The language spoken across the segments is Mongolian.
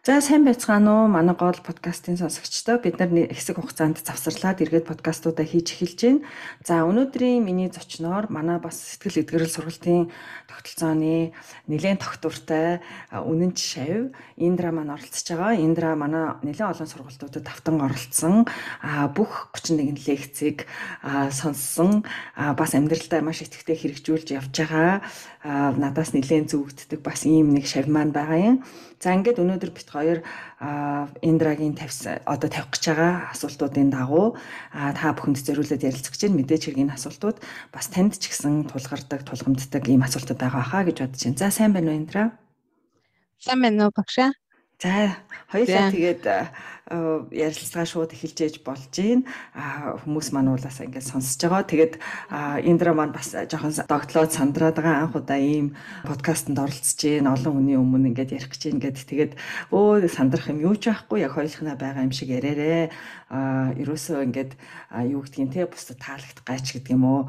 За сайн байцгаана уу манай гол подкастын сонсогчдоо бид нар хэсэг хугацаанд завсарлаад эргээд подкастуудаа хийж эхэлж байна. За өнөөдрийн миний зочноор манай бас сэтгэл эдгэрэл сургалтын тогтолцооны нэлээд тогтвортой үнэн шав Индра маань оролцож байгаа. Индра манай нэлээд олон сургалтуудад давтан оролцсон бүх 31 лекцийг сонссон бас амьдралдаа маш идэвхтэй хэрэгжүүлж явж байгаа. Надаас нэлээд зүгддэг бас ийм нэг шав маань байгаа юм. За ингээд өнөөдөр бит хоёр Индрагийн тавих гэж байгаа асуултуудын дагуу та бүхэнд зориулаад ярилцах гэж байна. Мэдээж хэрэг энэ асуултууд бас танд ч гэсэн тулгардаг, тулгамддаг ийм асуултууд байгаа хаа гэж бодож байна. За сайн байна уу Индра? Сайн байна уу багшаа? За хоёулаа тэгээд ярилцлага шууд эхэлж ээж болж байна. Хүмүүс маань уулаасаа ингээд сонсож байгаа. Тэгээд Индра маань бас жоохон догтлоод сандраад байгаа анх удаа ийм подкастт оролцож байна. Олон хүний өмнө ингээд ярих гэж байна гэд тэгээд сандрах юм юу ч байхгүй. Яг хоёулахнаа байгаа юм шиг ярээрээ. Ерөөсөө ингээд юу гэдгийг те бусдад таалагдах гайч гэдэг юм уу?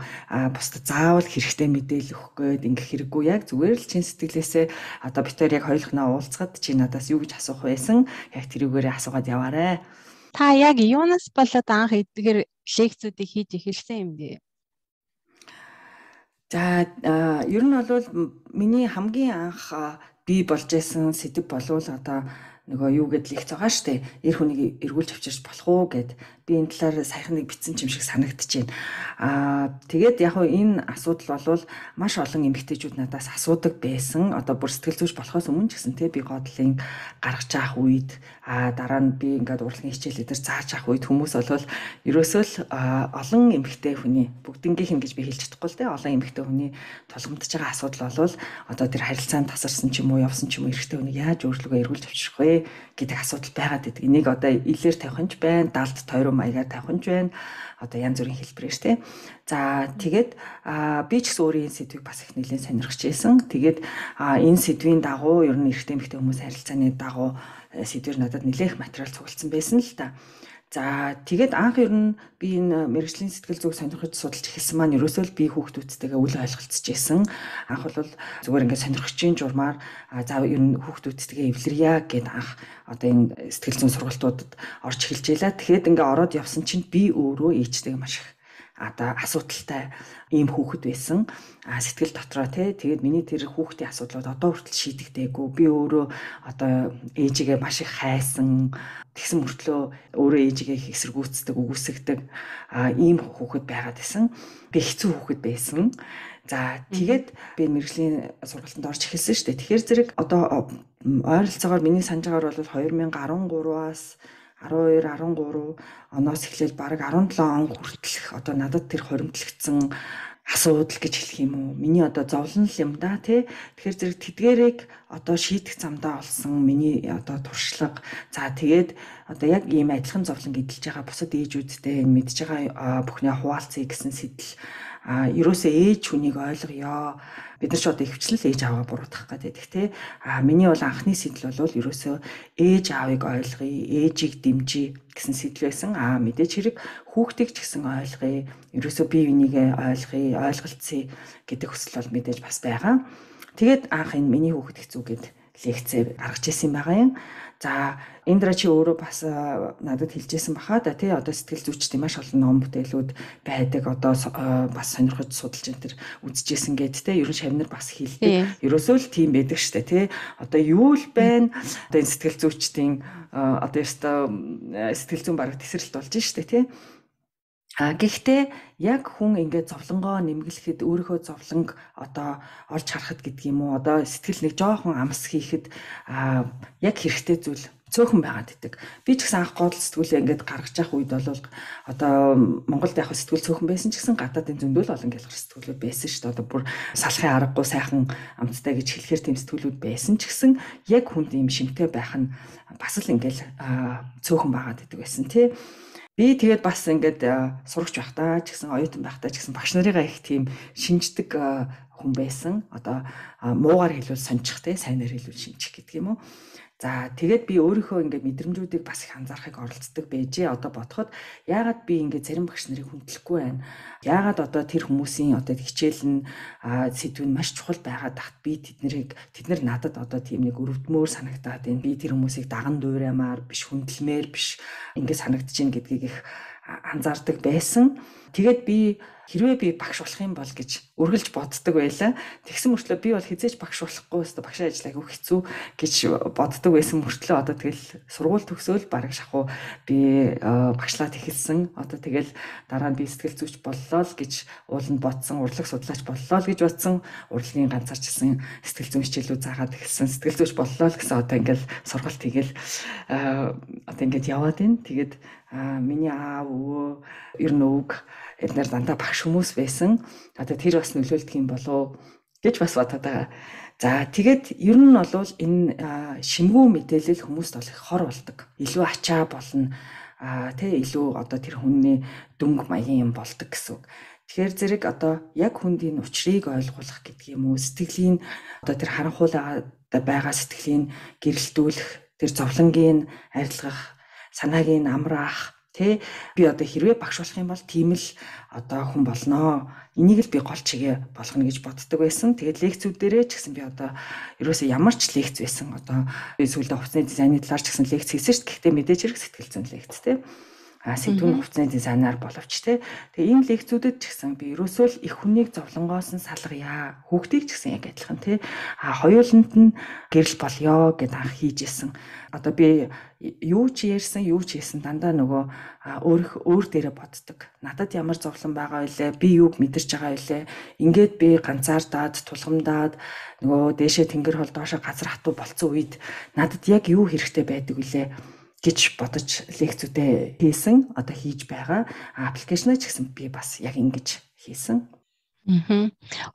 Бусдад заавал хэрэгтэй мэдээлэл өгөх гээд ингээд хэрэггүй яг зүгээр л чин сэтгэлээсээ одоо битээр яг хоёулахнаа уулзгаад чи надаас юу гэж асуух байсан. Яг тэрүүгээрээ асуугаад яваарэ. Та яг юунаас болоод анх эдгээр лекцүүдийг хийж эхэлсэн юм бэ? За ер нь бол миний хамгийн анх би болж исэн сэдв болвол одоо нөгөө юу гэд лекц байгаа штэ. Эр хүнийг эргүүлж авчирч болох уу гэд би энэ талаар саяхан нэг бичсэн юм шиг санагдчихээн. Тэгээд яг энэ асуудал бол маш олон эмэгтэйчүүд надаас асуудаг байсан. Одоо бүр сэтгэл зүйч болохоос өмнө ч гэсэн те би годлын гаргаж авах үед дараа нь би ингээд урлагийн хичээлүүдээр зааж авах үед хүмүүс бол ерөөсөө л олон эмэгтэй хүний бүгднгийнх нь гэж би хэлж чадахгүй л те олон эмэгтэй хүний тулгамдж байгаа асуудал бол одоо тэр харилцаанд тасарсан ч юм уу явсан ч юм уу эрэгтэй хүнийг яаж өөрлөгөө эргүүлж авчрах вэ гэдэг асуудал байгаад байдаг. Энийг одоо илээр тавих нь ч байна, далд тойрон маягаар тавих нь ч байна. Одоо янз бүрийн хэлбэрээр тий. За тэгээд би ч гэсэн өөрийн сэдвийг бас их нэлээд сонирхож байсан. Тэгээд энэ сэдвийн дагуу ер нь эрэгтэй эмэгтэй хүмүүс харилцааны дагуу сэдвэр надад нэлээх материал цугласан байсан л та. За тэгээд анх ер нь би энэ мэрэгжлийн сэтгэл зүг сонирхож судалж эхэлсэн маань ерөөсөө л би хүүхдүүдтэйгээ үл ойлголцож байсан. Анх бол зүгээр ингээд сонирхогчийн журмаар за ер нь хүүхдүүдтэйгээ эвлэрья гэд анх одоо энэ сэтгэл зүйн сургалтуудад орж эхэлж байлаа. Тэгэхэд ингээд ороод явсан чинь би өөрөө ээжтэйгээ маш их одоо асуудалтай ийм хүүхэд байсан. Сэтгэл дотроо тэгээд миний тэр хүүхдийн асуудлууд одоо хүртэл шийдэгдээгүй. Би өөрөө одоо ээжигээ маш их хайсан. Тэгсэн мөртлөө өөрөө ээжигээ их эсэргүүцдэг, үгүйсгдэг ийм хүүхэд байгаад байсан. Би хэцүү хүүхэд байсан. За тэгээд би мэрэгжлийн сургалтанд орж эхэлсэн шүү дээ. Тэгэхээр зэрэг одоо ойролцоогоор миний санаж байгаагаар бол 2013-аас 12, 13 оноос эхлээл бараг 17 он хүртэлх одоо надад тэр хоримтлагдсан асуудал гэж хэлэх юм уу? Миний одоо зовлон л юм да тий. Тэгэхээр зэрэг тэдгээрийг одоо шийдэх замдаа олсон миний одоо туршлага. За тэгээд одоо яг ийм адилхан зовлон эдэлж байгаа бусад ээжүүдтэй энэ мэдж байгаа бүхний хуваалцъя гэсэн сэтэл ерөөсөө ээж хүнийг ойлгоё. Бид нар ч одоо ихвчлэл ээж ааваа буруутгах гэдэг тий. Миний бол анхны сэтэл бол ерөөсөө ээж аавыг ойлгоё, ээжийг дэмжиж гэсэн сэтэл байсан. Мэдээж хэрэг хүүхдийг ч гэсэн ойлгоё. Ерөөсөө бие бинийгээ ойлгоё, ойлголцъя гэдэг хүсэл бол мэдээж бас байгаа. Тэгээд анх энэ миний хүүхэд хэцүү гэд лекцээ гаргаж ирсэн байгаа юм. За Индра чи өөрөө бас надад хэлжсэн баха да тий одоо сэтгэл зүйчдийн маш олон ном бүтээлүүд байдаг одоо бас сонирхож судалж энэ төр үзчихсэн гэд тий ерөн шавнар бас хэлдэг. Ерөөсөө л тийм байдаг штэ тий одоо юу л байна одоо энэ сэтгэл зүйчдийн одоо сэтгэл зүйн бараг тесрэлт болж штэ тий. Гэхдээ яг хүн ингээд зовлонгоо нэмгэлэхэд өөрийнхөө зовлонг одоо олж харахад гэдэг юм уу одоо сэтгэл нэг жоохон амс хийхэд яг хэрэгтэй зүйл цөөхөн байгаад идэг. Би ч гэсэн анх гол сэтгүүлээ ингээд гаргаж явах үед бол одоо Монголд яг сэтгүүл цөөхөн байсан ч гэсэн гадаадын зөндөл олон гялгар сэтгүүлүүд байсан шүү дээ. Одоо бүр салахын аргагүй сайхан амттай гэж хэлэхээр тийм сэтгүүлүүд байсан ч гэсэн яг хүнд ийм шимтэй байх нь бас л ингээд цөөхөн байгаад идэг байсан тий. Би тэгээд бас ингээд сурагч байхдаа ч гэсэн оюутан байхдаа ч гэсэн багш нарыгаа их тийм шинждэг хүн байсан. Одоо муугаар хэлвэл сончих те, сайнаар хэлвэл шинжих гэдэг юм уу. За тэгээд би өөрийнхөө ингээд мэдрэмжүүдийг бас их анзаарахыг оролцдог байжээ. Одоо бодоход яагаад би ингээд зарим багш нарыг хүндлэхгүй байна? Яагаад одоо тэр хүмүүсийн одоо хичээл нь сэдв нь маш чухал байгаад тахт би тэднэр надад одоо тийм нэг өрөвдмөр санагдаад байна. Би тэр хүмүүсийг даган дуураймаар биш, хүндэлмээр биш ингээд санагдаж байна гэдгийг их анзаардаг байсан. Тэгээд би хэрвээ би багш болох юм бол гэж үргэлж боддог байлаа. Тэгсэн мөртлөө би бол хизээч багш болохгүй өстө багшийн ажил айгүй хэцүү гэж боддог байсан мөртлөө одоо тэгэл сургууль төгсөөл бараг шахуу би багшлаад эхэлсэн. Одоо тэгэл дараа нь би сэтгэл зүйч боллоо л гэж ууланд бодсон, урлаг судлаач боллоо л гэж бодсон. Урлагийн ганцаарчилсан сэтгэл зүйн хичээлүүд заагаад эхэлсэн. Сэтгэл зүйч боллоо л гэсэн одоо ингээл сургалт хийгээл одоо ингээд яваад байна. Тэгээд миний аав өвөө ер нь өвг эднэр дандаа багш хүмүүс байсан. Одоо тэр бас нөлөөлдөг юм болов гэж бас бодоод байгаа. За тэгээд ер нь бол энэ шимгүү мэдээлэл хүмүүст бол их хор болдог. Илүү ачаа болно. Илүү одоо тэр хүний дөнгө маягийн юм болдог гэсэн үг. Тэгэхээр зэрэг одоо яг хүндийн учрыг ойлгуулах гэдэг юм уу? Сэтгэлийн одоо тэр харанхуйлаад байгаа сэтгэлийн гэрэлтүүлэх, тэр зовлонгийн арилгах, санааг нь амраах, би одоо хэрвээ багш болох юм бол тийм л одоо хүн болноо. Энийг л би гол чигээ болгоно гэж боддог байсан. Тэгээд лекцүүдээрээ ч гэсэн би одоо ерөөсөө ямар ч лекц байсан. Одоо би сүүлдээ хувцсны дизайны талаар ч гэсэн лекц хийсэн шүү дээ. Гэхдээ мэдээж хэрэг сэтгэл зүйн лекц сэдвүүн хувцсны дизайнаар боловч тэгээ энэ лекцүүдэд ч гэсэн би ерөөсөө л их хүнийг зовлонгоос нь салгая. Хүүхдийг ч гэсэн яг адилхан хоёуланд нь гэрэл болёо гэд анх хийжсэн. Одоо би юу ч ярьсан, юу ч хийсэн дандаа нөгөө өөр дээрээ боддог. Надад ямар зовлон байгаа вэ? Би юуг мэдэрч байгаа вэ? Ингээд би ганцаардаад, тулгамдаад нөгөө дээшээ тэнгэр хол доошоо газар хатуу болцсон үед надад яг юу хэрэгтэй байдаг вэ гэж бодож лекцүүдээ хийсэн. Одоо хийж байгаа. Аппликейшнаа ч гэсэн би бас яг ингэж хийсэн.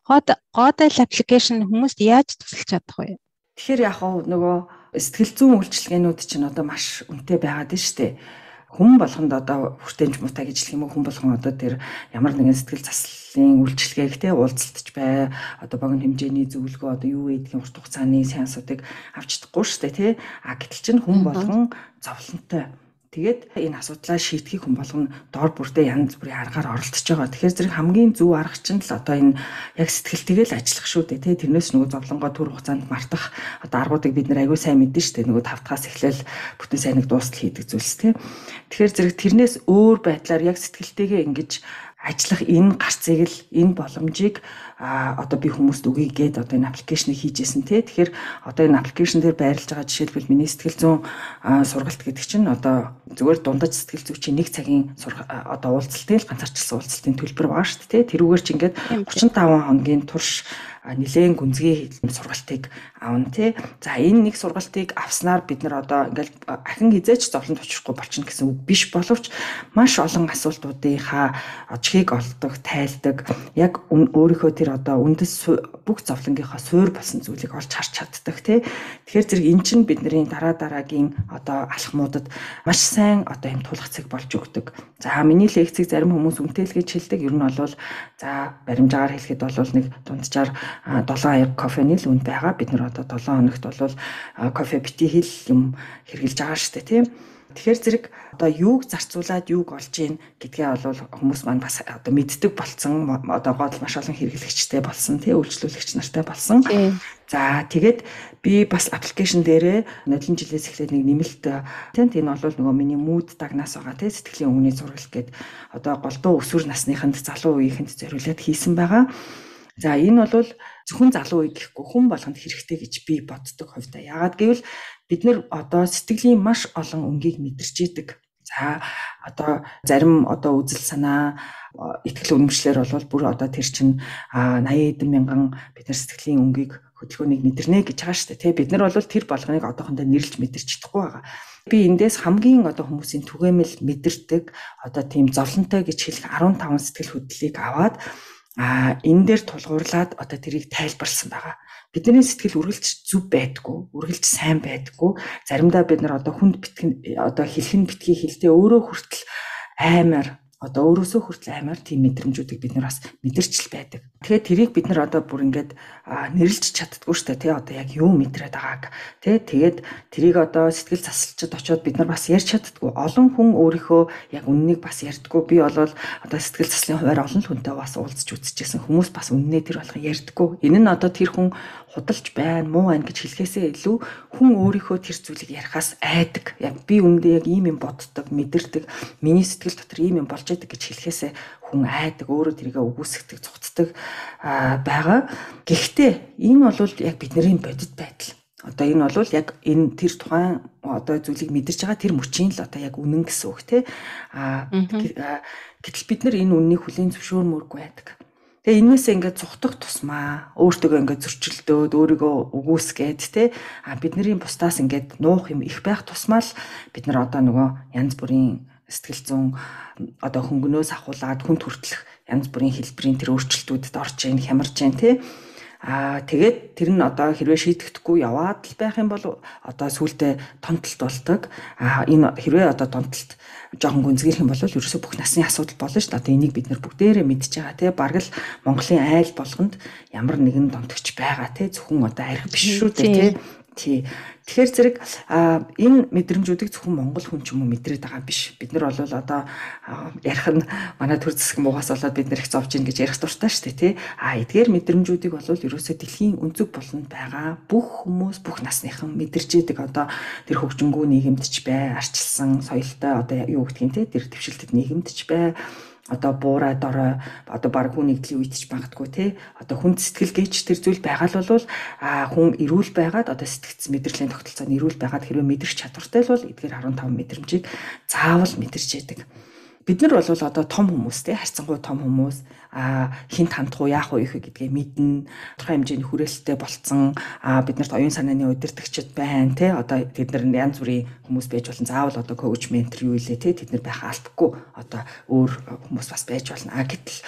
Годал аппликейшн хүмүүст яаж тусалж чадах вэ? Тэгэхээр яг нөгөө сэтгэл зүйн үйлчилгээнүүд чинь одоо маш үнэтэй байгаад байна шүү дээ. Хүн болгонд одоо хүртээнч муутай гэж хэлэх юм уу, хүн болгон одоо тэр ямар нэгэн сэтгэл заслын үйлчилгээг уулзалтж бай, одоо богино хэмжээний зөвлөгөө одоо юу гэдгийг урт хугацааны сеансуудыг авч чадахгүй шүү дээ гэтэл чинь хүн болгон зовлонтой. Тэгээд энэ асуудлаа шийдэхийг хүн болгоно доор бүрдээ янз бүрийн аргаар оролдож байгаа. Тэгэхээр зэрэг хамгийн зөв арга чинь л одоо энэ яг сэтгэлтэйгээ л ажиллах шүү дээ. Тэрнээс нөгөө зовлонгоо түр хугацаанд мартах одоо аргуудыг бид нэр аягүй сайн мэднэ шүү дээ. Нөгөө 5 дахаас эхлээл бүтэн сайныг дуустал хийдэг зүйлс Тэгэхээр зэрэг тэрнээс өөр байдлаар яг сэтгэлтэйгээ ингэж ажиллах энэ гарцыг л энэ боломжийг одоо би хүмүүст өгье гээд одоо энэ аппликейшнийг хийжсэн тэгэхээр одоо энэ аппликейшн дээр байрлаж байгаа жишээлбэл миний сэтгэл зүйн сургалт гэдэг чинь одоо зүгээр дундаж сэтгэл зүйчийн 1 цагийн одоо уулзалтын л ганцаарчилсан уулзалтын төлбөр байгаа шүү дээ тэрүүгээр чи ингээд 35 хоногийн турш нэлээд гүнзгий сургалтыг аавна За энэ нэг сургалтыг авснаар бид нар одоо ингээл ахин хизээч зовлонд учрахгүй болчихно гэсэн үг биш боловч маш олон асуултуудынхаа очихыг олдог, тайлдаг. Яг өөрийнхөө тэр одоо үндэс бүх зовлонгийнхаа суур болсон зүйлийг олж харж чаддаг Тэгэхээр зэрэг эн чинь бидний дараагийн одоо алхмуудад маш сайн одоо юм тулах цэг болж өгдөг. За миний лекцийг зарим хүмүүс үнэтэй л гэж хэлдэг. Ер нь бол баримжаагаар хэлэхэд бол нэг дунджаар 7 аяг кофений л үнд байгаа. Бид нар одоо 7 хоногт бол кофе бити хэл юм хэрглэж байгаа шүү дээ Тэгэхээр зэрэг одоо юуг зарцуулаад юуг олж ийн гэдгээ бол хүмүүс маань бас одоо мэддэг болсон. Одоо гол маш олон хэрэглэгчтэй болсон үйлчлүүлэгч нартай болсон. За тэгээд би бас аппликейшн дээрээ нодлон жилээс эхлээд нэг нэмэлт энэ бол нөгөө миний mood дагнаас байгаа сэтгэлийн өнгөний зургал гээд одоо голдуу өсвөр насныханд залуу үеийнхэнд зориулаад хийсэн байгаа. За энэ бол зөвхөн залуу үе гэхгүй хүн болгонд хэрэгтэй гэж би боддог хувьдаа. Яагаад гэвэл бид нэр одоо сэтгэлийн маш олон өнгийг мэдэрч идэг. За одоо зарим одоо үзэл санаа итгэл үнэмшлэр бол бүр одоо тэр чинь 80 эдэн мянган бид нар сэтгэлийн өнгийг хөдөлгөөнийг мэдэрнэ гэж байгаа шүү дээ. Бид нар бол тэр болгоныг одоохондоо нэрлж мэдэрч чадахгүй байгаа. Би эндээс хамгийн одоо хүмүүсийн түгээмэл мэдэрдэг одоо тийм зовлонтой гэж хэлэх 15 сэтгэл хөдлөлийг аваад энэ дээр тулгуурлаад одоо тэрийг тайлбарлсан байгаа. Бидний сэтгэл үргэлж зүв байдаггүй, үргэлж сайн байдаггүй. Заримдаа бид нар одоо хүнд битгэн одоо хэлхэн битгий хэлтэй өөрөө хүртэл аймаар одоо өөрөөсөө хүртэл амар тийм мэдрэмжүүдийг бид нар бас мэдэрч л байдаг. Тэгэхээр тэрийг бид нар одоо бүр ингээд нэрлж чаддгүй шүү дээ тий одоо яг юу мэдрээд байгааг тий тэгээд тэрийг одоо сэтгэл засалчид очиод бид нар бас ярьж чаддгүй. Олон хүн өөрийнхөө яг үннийг бас ярьдаггүй. Би болвол одоо сэтгэл заслын хуваар олон хүнтэй бас уулзч үзчихсэн хүмүүс бас үннээ тэр болгон ярьдаггүй. Энэ нь одоо тэр хүн худалж байна, муу байна гэж хэлэхээсээ илүү хүн өөрийнхөө тэр зүйлийг ярихаас айдаг. Яг би үндэ яг ийм юм боддог, мэдэрдэг, миний сэтгэл дотор ийм юм болж байдаг гэж хэлэхээсээ хүн айдаг, өөрөө тэрийгэ үгүйсгдэг, цуцдаг байгаа. Гэхдээ энэ бол яг бидний бодит байдал. Одоо энэ бол яг энэ тэр тухайн одоо зүйлийг мэдэрч байгаа тэр мөчийн л одоо яг үнэн гэсэн үг тий. Гэтэл бид нар энэ үннийг хүлийн зөвшөөрмөөргүй байдаг. Тэгээ энээсээ ингээд цухтах тусмаа өөртөө ингээд зөрчилдөөд өөрийгөө үгүйсгээд тий бидний бусдаас ингээд нуух юм их байх тусмаа л бид нар одоо нөгөө янз бүрийн сэтгэл зүйн одоо хөнгөнөөс ахуулаад хүнд хүртэлх янз бүрийн хэлбэрийн тэр өөрчлөлтүүдэд орж ийн хямарж ийн тий тэгээд тэр нь одоо хэрвээ шийдэгдэхгүй яваад л байх юм бол одоо сүултээ томтолт болдог. Энэ хэрвээ одоо томтолт жоохон гүнзгийх юм бол ерөөсөө бүх насны асуудал болно шүү дээ. Одоо энийг бид нар бүгдээрээ мэдж байгаа тий. Бараг л Монголын айл болгонд ямар нэгэн томтогч байгаа тий. Зөвхөн одоо арх биш шүү дээ тий. Тэгэхээр зэрэг энэ мэдрэмжүүдийг зөвхөн монгол хүн ч юм уу мэдрээд байгаа биш. Бид нар бол одоо ярих нь манай төр зэсэг муугаас болоод бид нар их зовж ийн гэж ярих дуртай шүү дээ тий. Эдгээр мэдрэмжүүдийг бол ерөөсөө дэлхийн өнцөг болонд байгаа бүх хүмүүс бүх насныхан мэдэрч идэг одоо тэр хөгжингүү нийгэмд ч бай, арчилсан соёлтой одоо юу гэдгийг тий тэр твшилтэд нийгэмд ч бай. Одоо буурай дорой одоо баг хүн нэгдлийн үед ч магадгүй тий одоо хүн сэтгэл гээч тэр зүйл байгаа л бол хүн эрүүл байгаад одоо сэтгцэн мэдрэлийн тогтолцоонд эрүүл байгаад хэрвээ мэдрэх чадвартай л бол эдгээр 15 мэдрэмжийг заавал мэдэрч яадаг. Бид нар бол одоо том хүмүүс тий харьцангуй том хүмүүс хинт хандах уу яах уу гэдгээ мэднэ. Тодорхой хэмжээний хүрээлттэй болцсон бид нарт оюун санааны удирдагчид байна тий одоо тэд нар янз бүрийн хүмүүс байж болно. Заавал одоо коуч ментор юу илээ тий тэд нар байх албагүй одоо өөр хүмүүс бас байж болно. Гэтэл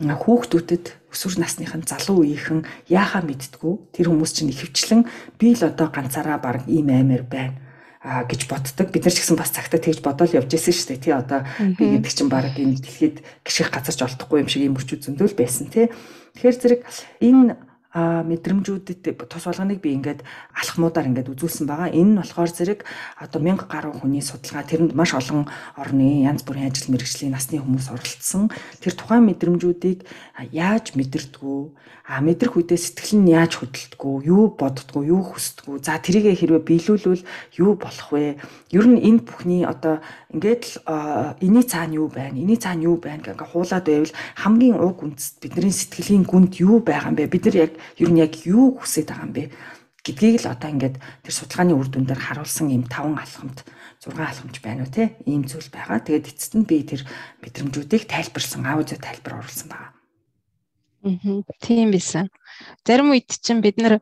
хүүхдүүдэд өсвөр насныхан залуу үеийнхэн яахаа мэдтгүү тэр хүмүүс чинь ихэвчлэн би л одоо ганцаараа баг ийм аймаар байна гэж боддог. Бид нар ч гэсэн бас цагтаа тэгж бодоол явж байсан шүү дээ. Тий одоо би гэдэг чинь баг энэ дэлхийд гიშгэх газар ч олдохгүй юм шиг юм өчүүд зөндөл байсан тий. Тэгэхээр зэрэг энэ мэдрэмжүүдэд тус болгоныг би ингээд алхмуудаар ингээд үзүүлсэн байгаа. Энэ нь болохоор зэрэг одоо 1000 гаруй хүний судалгаа тэрэнд маш олон орны янз бүрийн ажил мэргэжлийн насны хүмүүс оролцсон. Тэр тухайн мэдрэмжүүдийг яаж мэдэрдгүү, мэдрэх үедээ сэтгэл нь яаж хөдөлдгүү, юу боддгүү, юу хүсдгүү. За тэрийг хэрвээ биелүүлвэл юу болох вэ? Ер нь энэ бүхний одоо ингээд л энэний цаана юу байна? Энэний цаана юу байна гэнгээ хуулаад байвал хамгийн уг үндэс бидний сэтгэлийн гүнд юу байгаа юм бэ? Бид нар яг ер нь яг юу хүсэж байгаа юм бэ гэдгийг л одоо ингээд тэр судалгааны үр дүн дээр харуулсан юм 5 алхамт 6 алхамч байна уу те ийм зүйл байгаа. Тэгээд эцэст нь би тэр мэдрэмжүүдийг тайлбарлсан аудио тайлбар оруулсан байгаа. Тийм байсан. Зарим үед чинь бид нар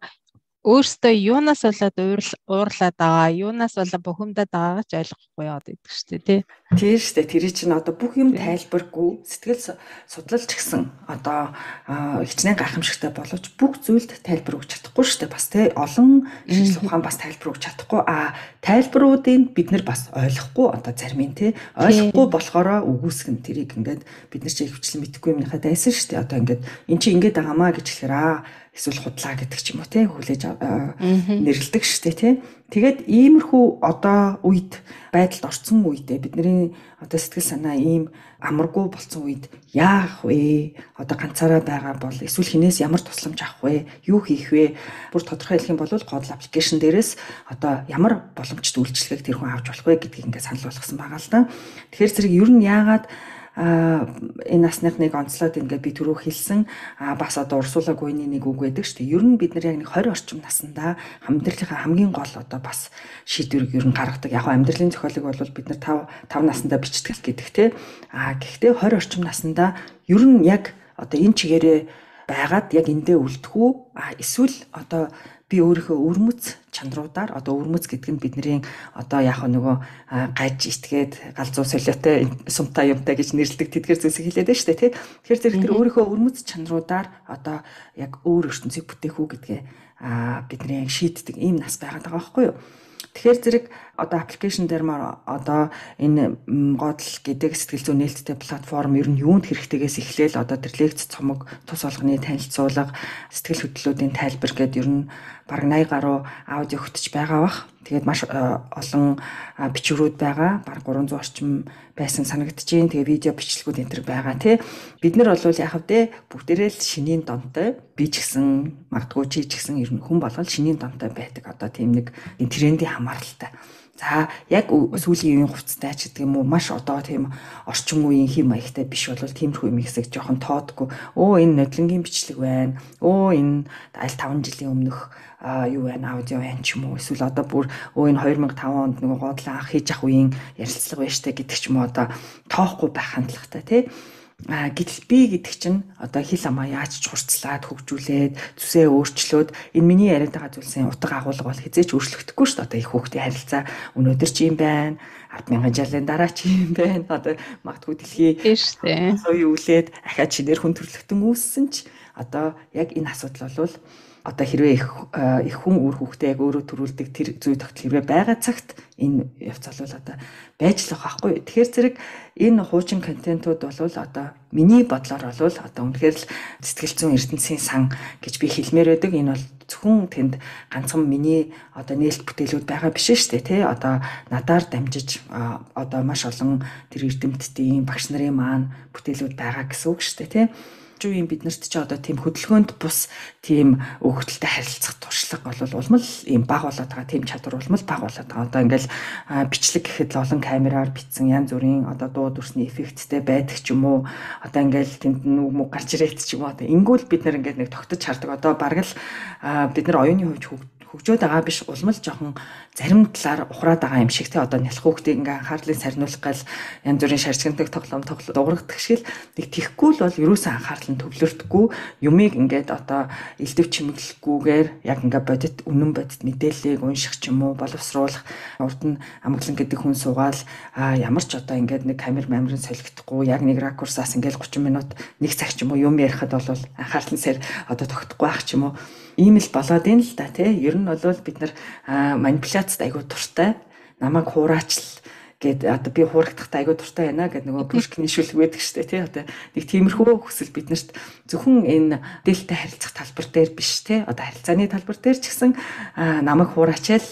өөрсдөө юунаас болоод уурлаад байгаа, юунаас болоод бухимдаад байгаагаа ч ойлгохгүй яваад идэг шүү дээ, тий. Тийм шүү дээ. Тэр чинь одоо бүх юм тайлбаргүй, сэтгэл судлалч гэсэн одоо хичнээн гайхамшигтай боловч бүх зүйлд тайлбар өгч чадахгүй шүү дээ. Бас тий олон шинжлэх ухаан бас тайлбар өгч чадахгүй. Тайлбаруудыг бид нар бас ойлгохгүй одоо зарим нь тий ойлгохгүй болохоор үгүйсгэн тэрийг ингээд бид нар чи хвчлэн мэдэхгүй юмнийхаа дайсан шүү дээ. Одоо ингээд эн чи ингээд байгаамаа гэж хэлэхээр эсвэл худлаа гэдэг ч юм уу тий хүлээж нэрлдэг шүү дээ тий. Тэгээд иймэрхүү одоо үед байдалд орсон үедээ бидний одоо сэтгэл санаа ийм амаргүй болсон үед яах вэ? Одоо ганцаараа байгаа бол эсвэл хинээс ямар тусламж авах вэ? Юу хийх вэ? Бүр тодорхой хэлэх юм бол Godel аппликейшн дээрээс одоо ямар боломжит үйлчлэгийг тэр хүн авч болох вэ гэдгийг ингээд санал болгосон байгаа л да. Тэгэхээр зэрэг ер нь яагаад энэ насныхныг онцлоод ингээд би түрүү хэлсэн бас одоо урсуулаагүй нэг үг байдаг шүү дээ. Ер нь бид нар яг нэг 20 орчим наснда амьдралынхаа хамгийн гол одоо бас шийдвэрийг ер нь гаргадаг. Яг амьдралын зохиолыг бол бид нар 5 наснда бичдэг гэдэг те. Гэхдээ 20 орчим наснда ер нь яг одоо энэ чигээрээ байгаад яг эндээ үлдэх үү? Эсвэл одоо би өөрийнхөө өвөрмөц чанаруудаар одоо өвөрмөц гэдэг нь бидний одоо яг нөгөө гаж итгээд галзуу солиотой сумтай юмтай гэж нэрлэдэг тэдгээр зүйлсийг хэлээд байна шүү дээ тий. Тэгэхээр зэрэг тэр өөрийнхөө өвөрмөц чанаруудаар одоо яг өөр ертөнцийг бүтээх үү гэдгээ бидний шийддэг ийм нас байгаад байгаа байхгүй юу? Тэгэхээр зэрэг одоо аппликейшн дээр маа одоо энэ Годл гэдэг сэтгэл зүйн нээлттэй платформ ер нь юунд хэрэгтэйгээс эхлээл одоо тэр лекц цомог тус олгоны танилцуулга сэтгэл хөдлөлүүдийн тайлбар гэдэг ер нь бараг 80 гаруй аудио хөтж байгаа бах. Тэгээд маш олон бичвэрүүд байгаа. Бараг 300 орчим байсан санагдчихээн. Тэгээ видео бичлэгүүд энэ төр байгаа тий. Бид нар бол яг хэвдээ бүгдээрээ л шинийн донтой би ч гэсэн магадгүй чи ч гэсэн ер нь хүн болгол шинийн донтой байдаг. Одоо тийм нэг трендийн хамааралтай. За яг сүүлийн үеийн хувцастай ч гэдэг юм уу маш одоо тийм орчин үеийн хэм маягтай биш бол тиймэрхүү юм хэсэг жоохон тоодгүй. Энэ нодлонгийн бичлэг байна. Энэ аль 5 жилийн өмнөх юу байна аудио байна ч юм уу эсвэл одоо бүр энэ 2005 онд нөгөө Годлын анх хийж ах үеийн ярилцлага байж та гэдэг ч юм уу одоо тоохгүй байх хандлагатай тий. Гэтэл би гэдэг чинь одоо хил амаа яаж ч хурцлаад хөгжүүлээд зүсээ өөрчлөөд энэ миний яриад байгаа зүйлсийн утга агуулга бол хизээч өөрчлөгдөхгүй шүү дээ. Одоо их хүүхдийн харилцаа өнөөдөр чи юм байна. 10,000 жилийн дараа чи юм байна. Одоо магадгүй дэлхий шүү дээ. Сая үлээд ахаад чинээр хүн төрлөختөн үүссэн ч одоо яг энэ асуудал бол одоо хэрвээ их хүн үр хүүхдээ яг өөрөө төрүүлдэг тэр зүй тогтол хэрвээ байгаа цагт энэ явц бол одоо байж л байгаа байхгүй. Тэгэхээр зэрэг энэ хуучин контентууд бол одоо миний бодлоор бол одоо үнэхээр л сэтгэл зүйн ертөнцийн сан гэж би хэлмээр байдаг. Энэ бол зөвхөн тэнд ганцхан миний одоо нээлт бүтээлүүд байгаа биш шүү дээ тий. Одоо надаар дамжиж одоо маш олон тэр эрдэмтдийн багш нарын маань бүтээлүүд байгаа гэсэн үг шүү дээ тий. Үеийн биднэрт ч одоо тийм хөдөлгөөнд бус тийм өгөгдөлтэй харилцах туршлага бол улмал ийм баг болоод байгаа, тийм чадвар улмал баг болоод байгаа. Одоо ингээл бичлэг гэхэд л олон камераар бичсэн янз бүрийн одоо дуу дүрсний эффекттэй байдаг ч юм уу. Одоо ингээл тэнд нүг мөг гарч ирээд ч юм уу. Одоо ингүүл бид нар ингээд нэг тогтож хардаг. Одоо бараг л бид нар оюуны хувьд хөгжөөд байгаа биш улмал жоохон зарим талаар ухраад байгаа юм шиг те одоо нялх хүүхдийг ингээ анхаарлыг сарниулах гал янз бүрийн шарчгандаг тоглоом дуурайдаг шиг л нэг тийхгүй л бол ерөөсөн анхаарал нь төвлөрдөггүй юмыг ингээд одоо элдв чимэглэхгүйгээр яг ингээ бодит үнэн бодит мэдээллийг унших ч юм уу боловсруулах урд нь амглан гэдэг хүн суугаал ямар ч одоо ингээд нэг камер мамрын солигдохгүй яг нэг ракурсаас ингээд 30 минут нэг цаг ч юм уу юм ярихад бол анхаарал нь сар одоо тогтохгүй байх ч юм уу ийм л болоод ийн л да тий. Ер нь бол бид нар манипуляцд айгүй дуртай. Намайг хураачл гэд одоо би хуурагдахтай айгүй дуртай байна гэд нөгөө Пушкины шүлэг байдаг штэ тий. Одоо нэг тиймэрхүү хүсэл биднэрт зөвхөн энэ дээлтэй харилцах талбар дээр биш тий. Одоо харилцааны талбар дээр ч гэсэн намайг хураачаал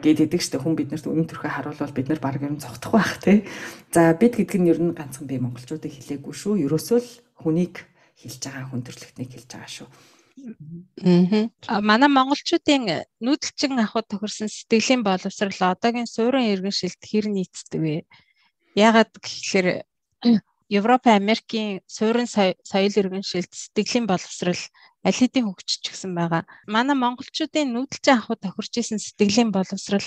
гэдэг штэ хүн биднэрт үнэн төрхөө харуулвал бид нар баг юм зогтох байх тий. За бид гэдэг нь ер нь ганцхан би монголчуудыг хэлээгүй шүү. Ерөөсөө л хүнийг хэлж байгаа хүн төрлөختнийг хэлж байгаа шүү. Манай монголчуудын нүүдэлчин ахуйд тохирсон сэтгэлийн боловсрал одоогийн суурин иргэншилд хэр нийцдэг вэ? Яагаад гэхээр Европ, Америкийн суурин соёл иргэншилд сэтгэлийн боловсрал аль хэдийн хөгжиж гисэн байгаа. Манай монголчуудын нүүдэлчин ахуйд тохирч исэн сэтгэлийн боловсрал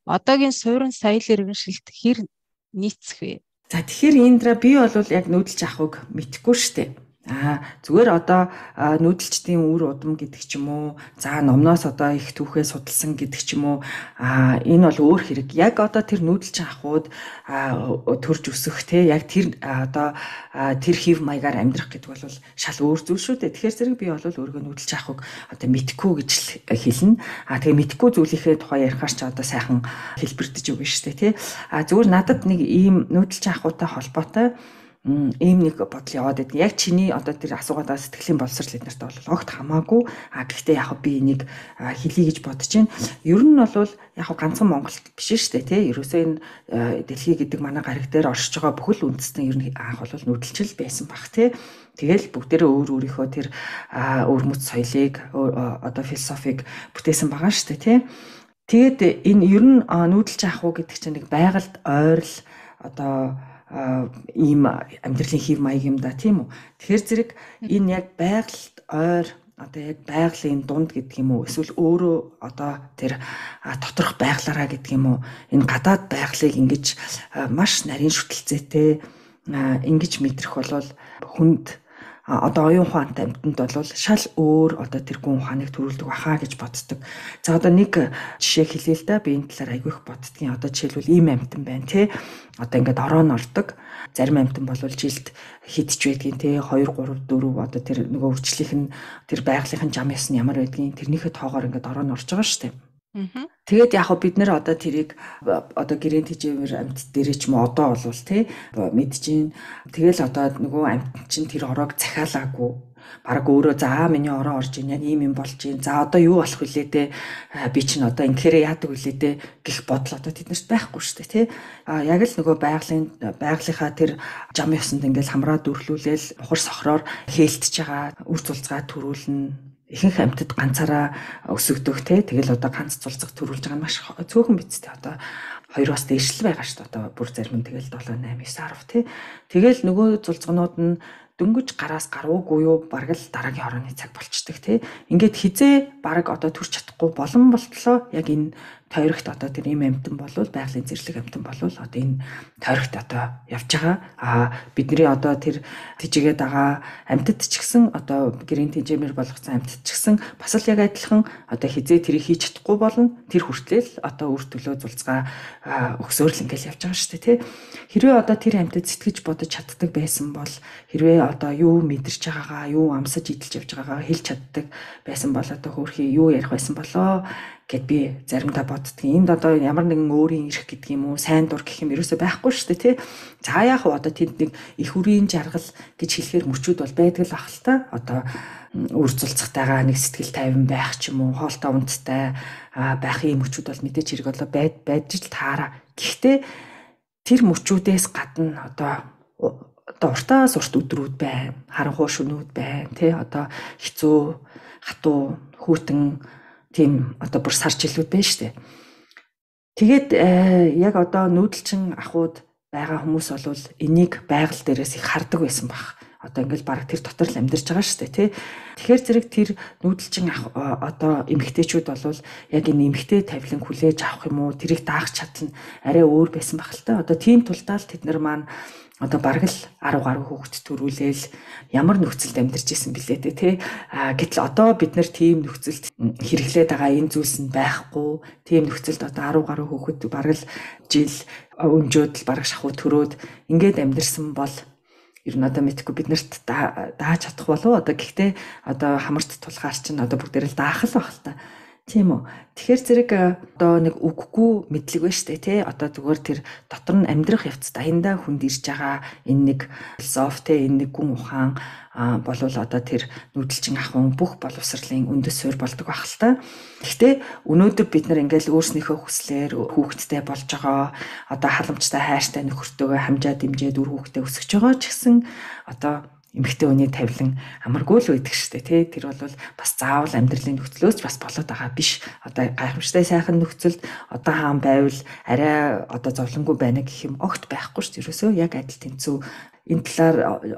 одоогийн суурин соёл иргэншилд хэр нийцэх вэ? За тэгэхээр эндра би бол яг нүүдэлчин ахуйг мэдэхгүй штэ. Зүгээр одоо нүүдэлчдийн үр удам гэдэг ч юм уу за номноос одоо их түүхээ судалсан гэдэг ч юм уу энэ бол өөр хэрэг яг одоо тэр нүүдэлчин ахуйд төрж өсөх те яг тэр одоо тэр хев маягаар амьдрах гэдэг бол шал өөр зүйл шүү дээ. Тэгэхээр зэрэг би бол өөргөө нүүдэлчин ахуйг одоо мэдхгүй гэж хэлнэ. Тэгээ мэдхгүй зүйлийнхээ тухай ярихаар ч одоо сайхан хэлбэрдэж өгнө шүү дээ те. Зүгээр надад нэг ийм нүүдэлчин ахуйтай холбоотой ийм нэг бодол яваад байдаг. Яг чиний одоо тэр асуугаадаа сэтгэлийн боловсрал эднэрт бол огт хамаагүй. Гэхдээ яг би энийг хэлье гэж бодож байна. Ер нь бол яг ганцхан Монголд биш шүү дээ, тий. Ерөөсөө энэ дэлхий гэдэг манай гариг дээр оршиж байгаа бүхэл үндэстэн ер нь анх бол нүүдэлчил байсан баг, тий. Тэгэл бүгдээрээ өөрийнхөө тэр өвөрмөц соёлыг одоо философиг бүтээсэн байгаа шүү дээ, тий. Тэгээд энэ ер нь нүүдэлчин ахуй гэдэг чинь нэг байгальд ойрол одоо ийм амьдралын хэв маяг юм да тийм үү. Тэгэхээр зэрэг энэ яг байгальд ойр одоо яг байгалийн дунд гэдэг юм уу эсвэл өөрөө одоо тэр доторх байглаараа гэдэг юм уу энэ гадаад байгалыг ингэж маш нарийн шүтэлцээтэй ингэж мэдрэх болвол хүнд одоо оюун ухаантай амьтанд бол шал өөр одоо тэр гүн ухааныг төрүүлдэг баха гэж боддог. За одоо нэг жишээ хэлье л да би энэ талаар айгүй их боддгийн. Одоо жишээлбэл ийм амьтан байна тий. Одоо ингээд ороод ордог. Зарим амьтан бол жилд хидж байдгийн тий 2 3 4 одоо тэр нөгөө өвчлийнх нь тэр байгалийнхын зам ясн ямар байдгийн тэрнийхээ тоогоор ингээд ороод орж байгаа шүү дээ. Тэгээд яг бид нэр одоо тэрийг одоо гэрээний тэжээвэр амьд дээрээ ч юм одоо болвол тий мэдчихээн. Тэгэл одоо нөгөө амьд чинь тэр ороог захиалаагүй. Бараг өөрөө за миний ороо орж ийн яг ийм юм болж ийн. За одоо юу болох вүлээ те би чинь одоо ингэхээр яадаг вүлээ те гэх бодол одоо тэднэрт байхгүй шүү дээ тий. Яг л нөгөө байгалийнхаа тэр жам ёсонд ингээл хамраа дүрлүүлээл ухар сохроор хээлтж байгаа үр цулцгаа төрүүлнэ. Ихэнх амьтад ганцаараа өсөгдөх те тэгэл одоо ганц цулцаг төрүүлж байгаа нь маш цөөхөн бицтэй одоо 2-оос дээш л байгаа шүү дээ. Одоо бүр зарим нь тэгэл 7 8 9 10 те. Тэгэл нөгөө цулцгнууд нь дөнгөж гараас гаруугүй юу бараг л дараагийн хорооны цаг болчдөг тий. Ингээд хизээ бараг одоо төрч чадахгүй болон болтлоо яг энэ тойрогт одоо тэр ийм амтан болвол байгалийн зэрлэг амтан болвол одоо энэ тойрогт одоо явж байгаа. Бидний одоо тэр тижигээд байгаа амьтад ч гэсэн одоо гэрийн тижээмэр болгоцсон амьтад ч гэсэн бас л яг адилхан одоо хизээ тэрийг хийж чадахгүй болно. Тэр хүртэл одоо үр төлөө зулцгаа өгсөөр л ингээл явж байгаа шүү дээ тий. Хэрвээ одоо тэр амьтад сэтгэж бодож чаддаг байсан бол хэрвээ одоо юу мэдэрч байгаагаа юу амсаж идэлж явж байгаагаа хэлж чаддаг байсан бол одоо хөөрхий юу ярих байсан болоо гэд би заримдаа боддөг. Энд одоо ямар нэгэн өөрийн эрх гэдэг юм уу сайн дур гэх юм ерөөсөй байхгүй шүү дээ тий. За яах вэ одоо тэнд нэг их үрийн жаргал гэж хэлэхээр мөчүүд бол байдаг л ах л та. Одоо үр цулцгатайгаа нэг сэтгэл тайван байх ч юм уу хоолтой унттай байх юм мөчүүд бол мэдээж хэрэг болоо байж л таараа. Гэхдээ тэр мөчүүдээс гадна одоо уртаас урт өдрүүд байна, харанхуй шөнүүд байна, тий одоо хэцүү, хатуу, хүйтэн тийм одоо бүр сар жилүүд байна шүү дээ. Тэгээд яг одоо нүүдэлчин ахуйд байгаа хүмүүс бол энийг байгаль дээрээс их хардаг байсан баг. Одоо ингээл баг тэр дотор л амьдарч байгаа шүү дээ тий. Тэгэхээр зэрэг тэр нүүдэлчин одоо эмэгтэйчүүд бол яг энэ эмэгтэй тавилан хүлээж авах юм уу тэрийг даах чадал нь арай өөр байсан баг л та. Одоо тийм тулдаа л тэд нар маань одоо бараг л 10 гаруй хүүхэд төрүүлээл ямар нөхцөлд амьдарч исэн билээ тий. Гэтэл одоо бид нар тийм нөхцөлд хэрэглээд байгаа энэ зүйлс нь байхгүй. Тийм нөхцөлд одоо 10 гаруй хүүхэд бараг л жил өнжөөд л бараг шахуу төрөөд ингээд амьдарсан бол ер нь одоо мэдхгүй бид нарт дааж чадах болов одоо гэхдээ одоо хамарт тулгаар чинь одоо бүгдээр л даах л байх л та. Тийм үү. Тэгэхээр зэрэг одоо нэг үггүй мэдлэг байна шүү дээ тий. Одоо зүгээр тэр дотор нь амьдрах явц даяндаа хүнд ирж байгаа энэ нэг философи тий энэ нэг гүн ухаан болвол одоо тэр нүүдэлчин ахуйн бүх боловсролын үндэс суурь болдог байх л та. Гэхдээ өнөөдөр бид нар ингээл өөрснийхөө хүслээр хүүхэдтэй болж байгаа одоо халамжтай хайртай нөхөртөөгөө хамжаа дэмжээд үр хүүхдээ өсгөж байгаа ч гэсэн одоо эмэгтэй хүний тавилан амаргүй л байдаг шүү дээ тий. Тэр бол бас заавал амьдралын нөхцлөөс бас болоод байгаа биш. Одоо гайхамшигтай сайхан нөхцөлд одоо хаан байвал арай одоо зовлонгүй байна гэх юм огт байхгүй шүү дээ. Ерөөсөө яг адил тэнцүү энэ талаар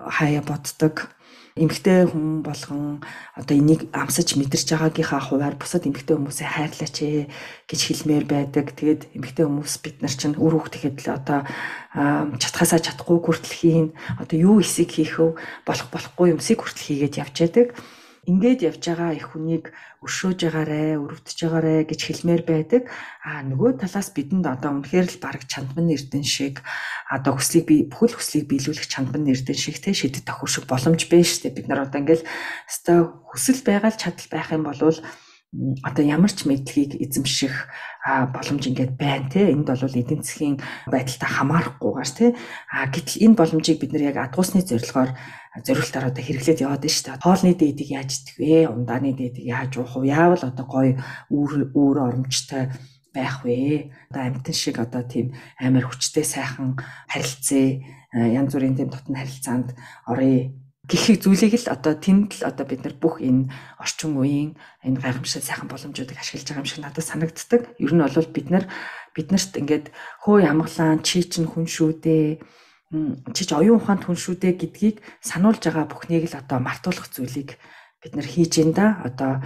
хаяа боддог. Эмэгтэй хүн болгон одоо энийг амсаж мэдэрч байгаагийнхаа хуваар бусад эмэгтэй хүмүүсээ хайрлаач гэж хэлмээр байдаг. Тэгээд эмэгтэй хүмүүс бид нар чинь үр хүүхдтэйхэд л одоо чадхаасаа чадахгүй хүртэл хийн. Одоо юу эсийг хийх вэ? Болохгүй юмсыг хүртэл хийгээд явж байдаг. Ингээд явж байгаа их хүнийг өршөөж байгаарэ, өрөвдөж байгаарэ гэж хэлмээр байдаг. Нөгөө талаас бидэнд одоо үнэхээр л бараг чандан эрдэн шиг одоо бүхэл хүслийг биелүүлэх чандан эрдэн шиг те шидэт тохиол шиг боломж байна шүү дээ. Бид нар одоо ингээл өстой хүсэл байгаа л чадал байх юм бол одоо ямар ч мэдлэгийг эзэмших боломж ингээд байна те. Энд бол эдийн засгийн байдалтай хамаарахгүйгээр те. Гэтэл энэ боломжийг бид нар яг адгуусны зорилтоор одоо хэрэглээд яваад байна шүү дээ. Хоолны дээдийг яаж идэх вэ? Ундааны дээдийг яаж уух вэ? Яавал одоо гоё өөр оромжтой байх вэ? Одоо амтэн шиг одоо тийм амар хүчтэй сайхан харилцаа янз бүрийн тийм дотн харилцаанд оръё гэх зүйлийг л одоо тэнд л одоо бид нар бүх энэ орчин үеийн энэ гайхамшигт сайхан боломжуудыг ашиглаж байгаа юм шиг надад санагддаг. Ер нь бол биднэрт ингээд хөөе амглаан чи чинь хүн шүү дээ. Чи ч оюун ухаанд хүн шүү дээ гэдгийг сануулж байгаа бүхнийг л одоо мартуулах зүйлийг бид нар хийж ин да. Одоо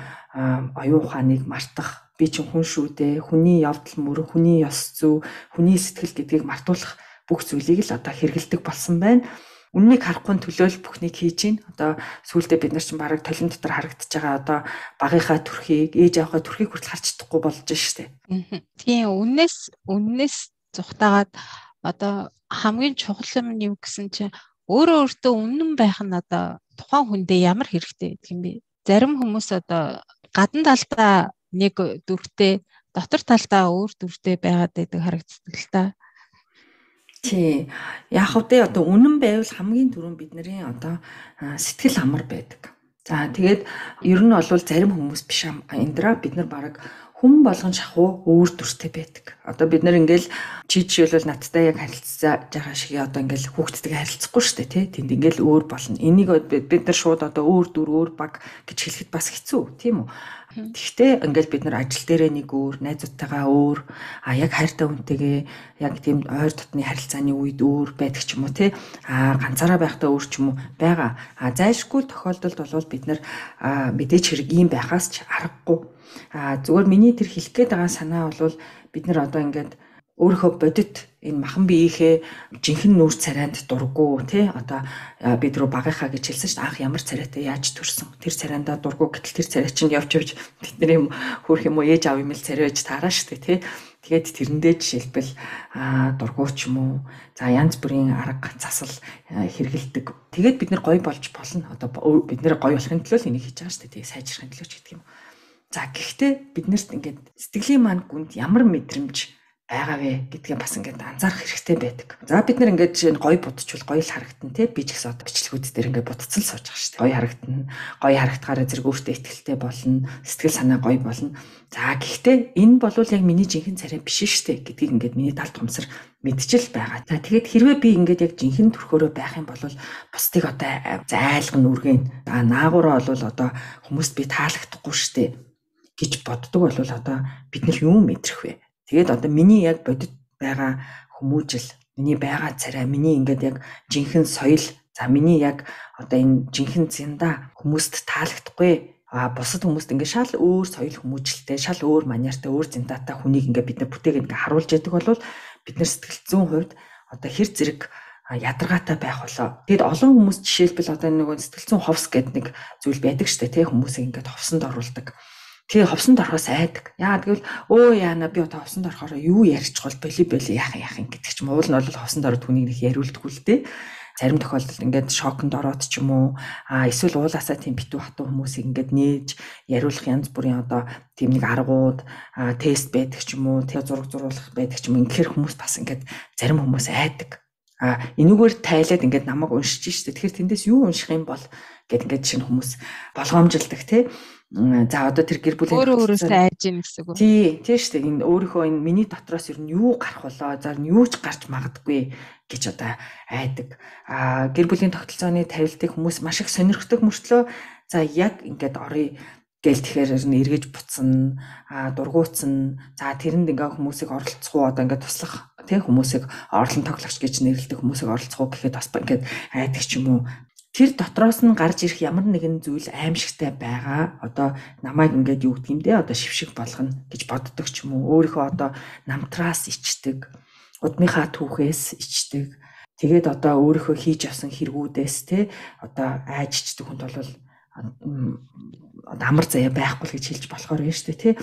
оюун ухааныг мартах, би чинь хүн шүү дээ, хүний явдал мөр, хүний ёс зүй, хүний сэтгэл гэдгийг мартуулах бүх зүйлийг л одоо хэрэгэлдэг болсон байна. Үннийг харахгүй төлөөл бүхнийг хийж ин. Одоо сүүлдээ бид нар чинь бараг толин дотор харагдаж байгаа одоо багийнхаа төрхийг, ээж аваахаа төрхийг хүртэл харж чадахгүй болж штэ. Тийм үннээс зүхтагаад одоо хамгийн чухал юм юу гэсэн чинь өөртөө үнэн байх нь одоо тухайн хүндээ ямар хэрэгтэй гэдэг юм бэ? Зарим хүмүүс одоо гадна талдаа нэг дүрхтэй дотор талдаа өөр дүртэй байгаад байдаг харагддаг л та. Тий. Яг үдээ одоо үнэн байвал хамгийн түрүүнд бидний одоо сэтгэл амар байдаг. За тэгээд ер нь бол зарим хүмүүс биш эндра бид нар баг хүн болгон шахуу өөр дүртэй байдаг. Одоо бид нар ингээл чи жишээлбэл надтай яг харилцаж байгаа шиг одоо ингээл хүүхдтэйгээ харилцахгүй шүү дээ тий. Тэнд ингээл өөр болно. Энийг бид нар шууд одоо өөр дүр өөр баг гэж хэлэхэд бас хэцүү тийм үү? Тэгвэл ингээл бид нар ажил дээрээ нэг өөр, найзуудтайгаа өөр, яг хайртай хүнтэйгээ яг тийм ойр дотны харилцааны үед өөр байдаг ч юм уу тий. Ганцаараа байхдаа өөр ч юм уу байгаа. Зайлшгүй тохиолдолд бол бид нар мэдээч хэрэг ийм байхаас ч аргагүй. Зүгээр миний тэр хэлэх гээд байгаа санаа бол бид нар одоо ингээд өөрийнхөө бодит энэ махан биеийнхээ жинхэнэ нүүр царайнд дурггүй тий одоо бид рүү багынхаа гэж хэлсэн шүү дээ анх ямар царайтай яаж төрсөн тэр царайндаа дурггүй гэтэл тэр царай чинь явж бидний юм хөрх юм уу ээж аав юм л царай байж таараа шүү дээ тий тэгээд тэрэндээ жишээлбэл дурггүй ч юм уу за янз бүрийн арга засал хэрэгэлдэг тэгээд бид нар гоё болж болно одоо бид нар гоё болохын төлөө л энийг хийж байгаа шүү дээ тий сайжрахын төлөө ч гэдэг юм за гэхдээ биднэрт ингээд сэтгэлийн маань гүнд ямар мэдрэмж байгаа вэ гэдгээ бас ингээд анзаарах хэрэгтэй байдаг. За бид нар ингээд жишээ нь гоё будчихвол гоё л харагдана тий би ч гэсэн одоо бичлэгүүд дээр ингээд будцсан сууж байгаа шүү дээ. Гоё харагдана. Гоё харагдахаараа зэрэг өөртөө ихтэй болно. Сэтгэл санаа гоё болно. За гэхдээ энэ бол яг миний жинхэнэ царай биш шүү дээ гэдгийг ингээд миний талд томсор мэдчил байгаа. За тэгээд хэрвээ би ингээд яг жинхэнэ төрхөөрөө байх юм бол бусдыг одоо зайлган үргэн. Наагуураа бол одоо хүмүүст би таалагдахгүй шүү дээ гэж боддог бол одоо бид нар юу мэдрэх вэ? Тэгээд одоо миний яг бодит байгаа хүмүүжил, миний байгаа царай, миний ингээд яг жинхэнэ соёл, за миний яг одоо энэ жинхэнэ зинда хүмүүст таалагдахгүй. Бусад хүмүүст ингээд шал өөр соёл хүмүүжилтэй, шал өөр манертай, өөр зиндатай хүнийг ингээд бид нар бүтээгээд ингээд харуулж яадаг бол бид нар сэтгэл зүйн хувьд одоо хэр зэрэг ядаргаатай байх болоо. Тэгэд олон хүмүүс жишээлбэл одоо нэг сэтгэл зүйн ховс гэдэг нэг зүйл байдаг шүү дээ, тий хүмүүсийг ингээд ховсонд оруулдаг. Тэгээ ховсонд орохоос айдаг. Яагаад гэвэл яана би одоо ховсонд орохоор юу ярьчихвол боли яах гэдэг ч юм уул нь бол ховсонд ороод хүнийг нэг яриулдаггүй л дээ. Зарим тохиолдолд ингээд шоконд ороод ч юм уу эсвэл уулаасаа тийм битүү хатуу хүмүүсийг ингээд нээж яриулах янз бүрийн одоо тийм нэг аргууд тест байдаг ч юм уу тэгээ зураг зурулах байдаг ч юм уу ингэхэр хүмүүс бас ингээд зарим хүмүүс айдаг. Энүүгээр тайлаад ингээд намайг уншиж штэ. Тэгэхээр тэндээс юу унших юм бол гэд ингээд шинэ хүмүүс болгоомжилдаг тий. За одоо тэр гэр бүлийн өөрөөсөө айж ийн гэсэн үг. Тий шүү дээ. Энэ өөрийнхөө энэ миний дотроос ер нь юу гарах болоо, за юу ч гарч магадгүй гэж одоо айдаг. Гэр бүлийн тогтолцооны тавилтыг хүмүүс маш их сонирхдаг мөртлөө за яг ингээд орё гээл тэгэхээр эргэж буцсан, дургуутсан. За тэрэнд ингээ хүмүүсийг оролцох уу одоо ингээ туслах тий хүмүүсийг орлон тоглогч гэж нэрлэдэг хүмүүсийг оролцох уу гэхэд бас ингээ айдаг ч юм уу. Тэр дотроос нь гарч ирэх ямар нэгэн зүйл аимшигтай байгаа. Одоо намайг ингээд юу гэдэг юм бэ? Одоо шившиг болгоно гэж боддог ч юм уу. Өөрийнхөө одоо намтраас ичдэг, удмынхаа түүхээс ичдэг. Тэгээд одоо өөрийнхөө хийж авсан хэрэгүүдээс те одоо айжчдаг хүнд бол амар заяа байхгүй л гэж хэлж болохоор байна шүү дээ тий.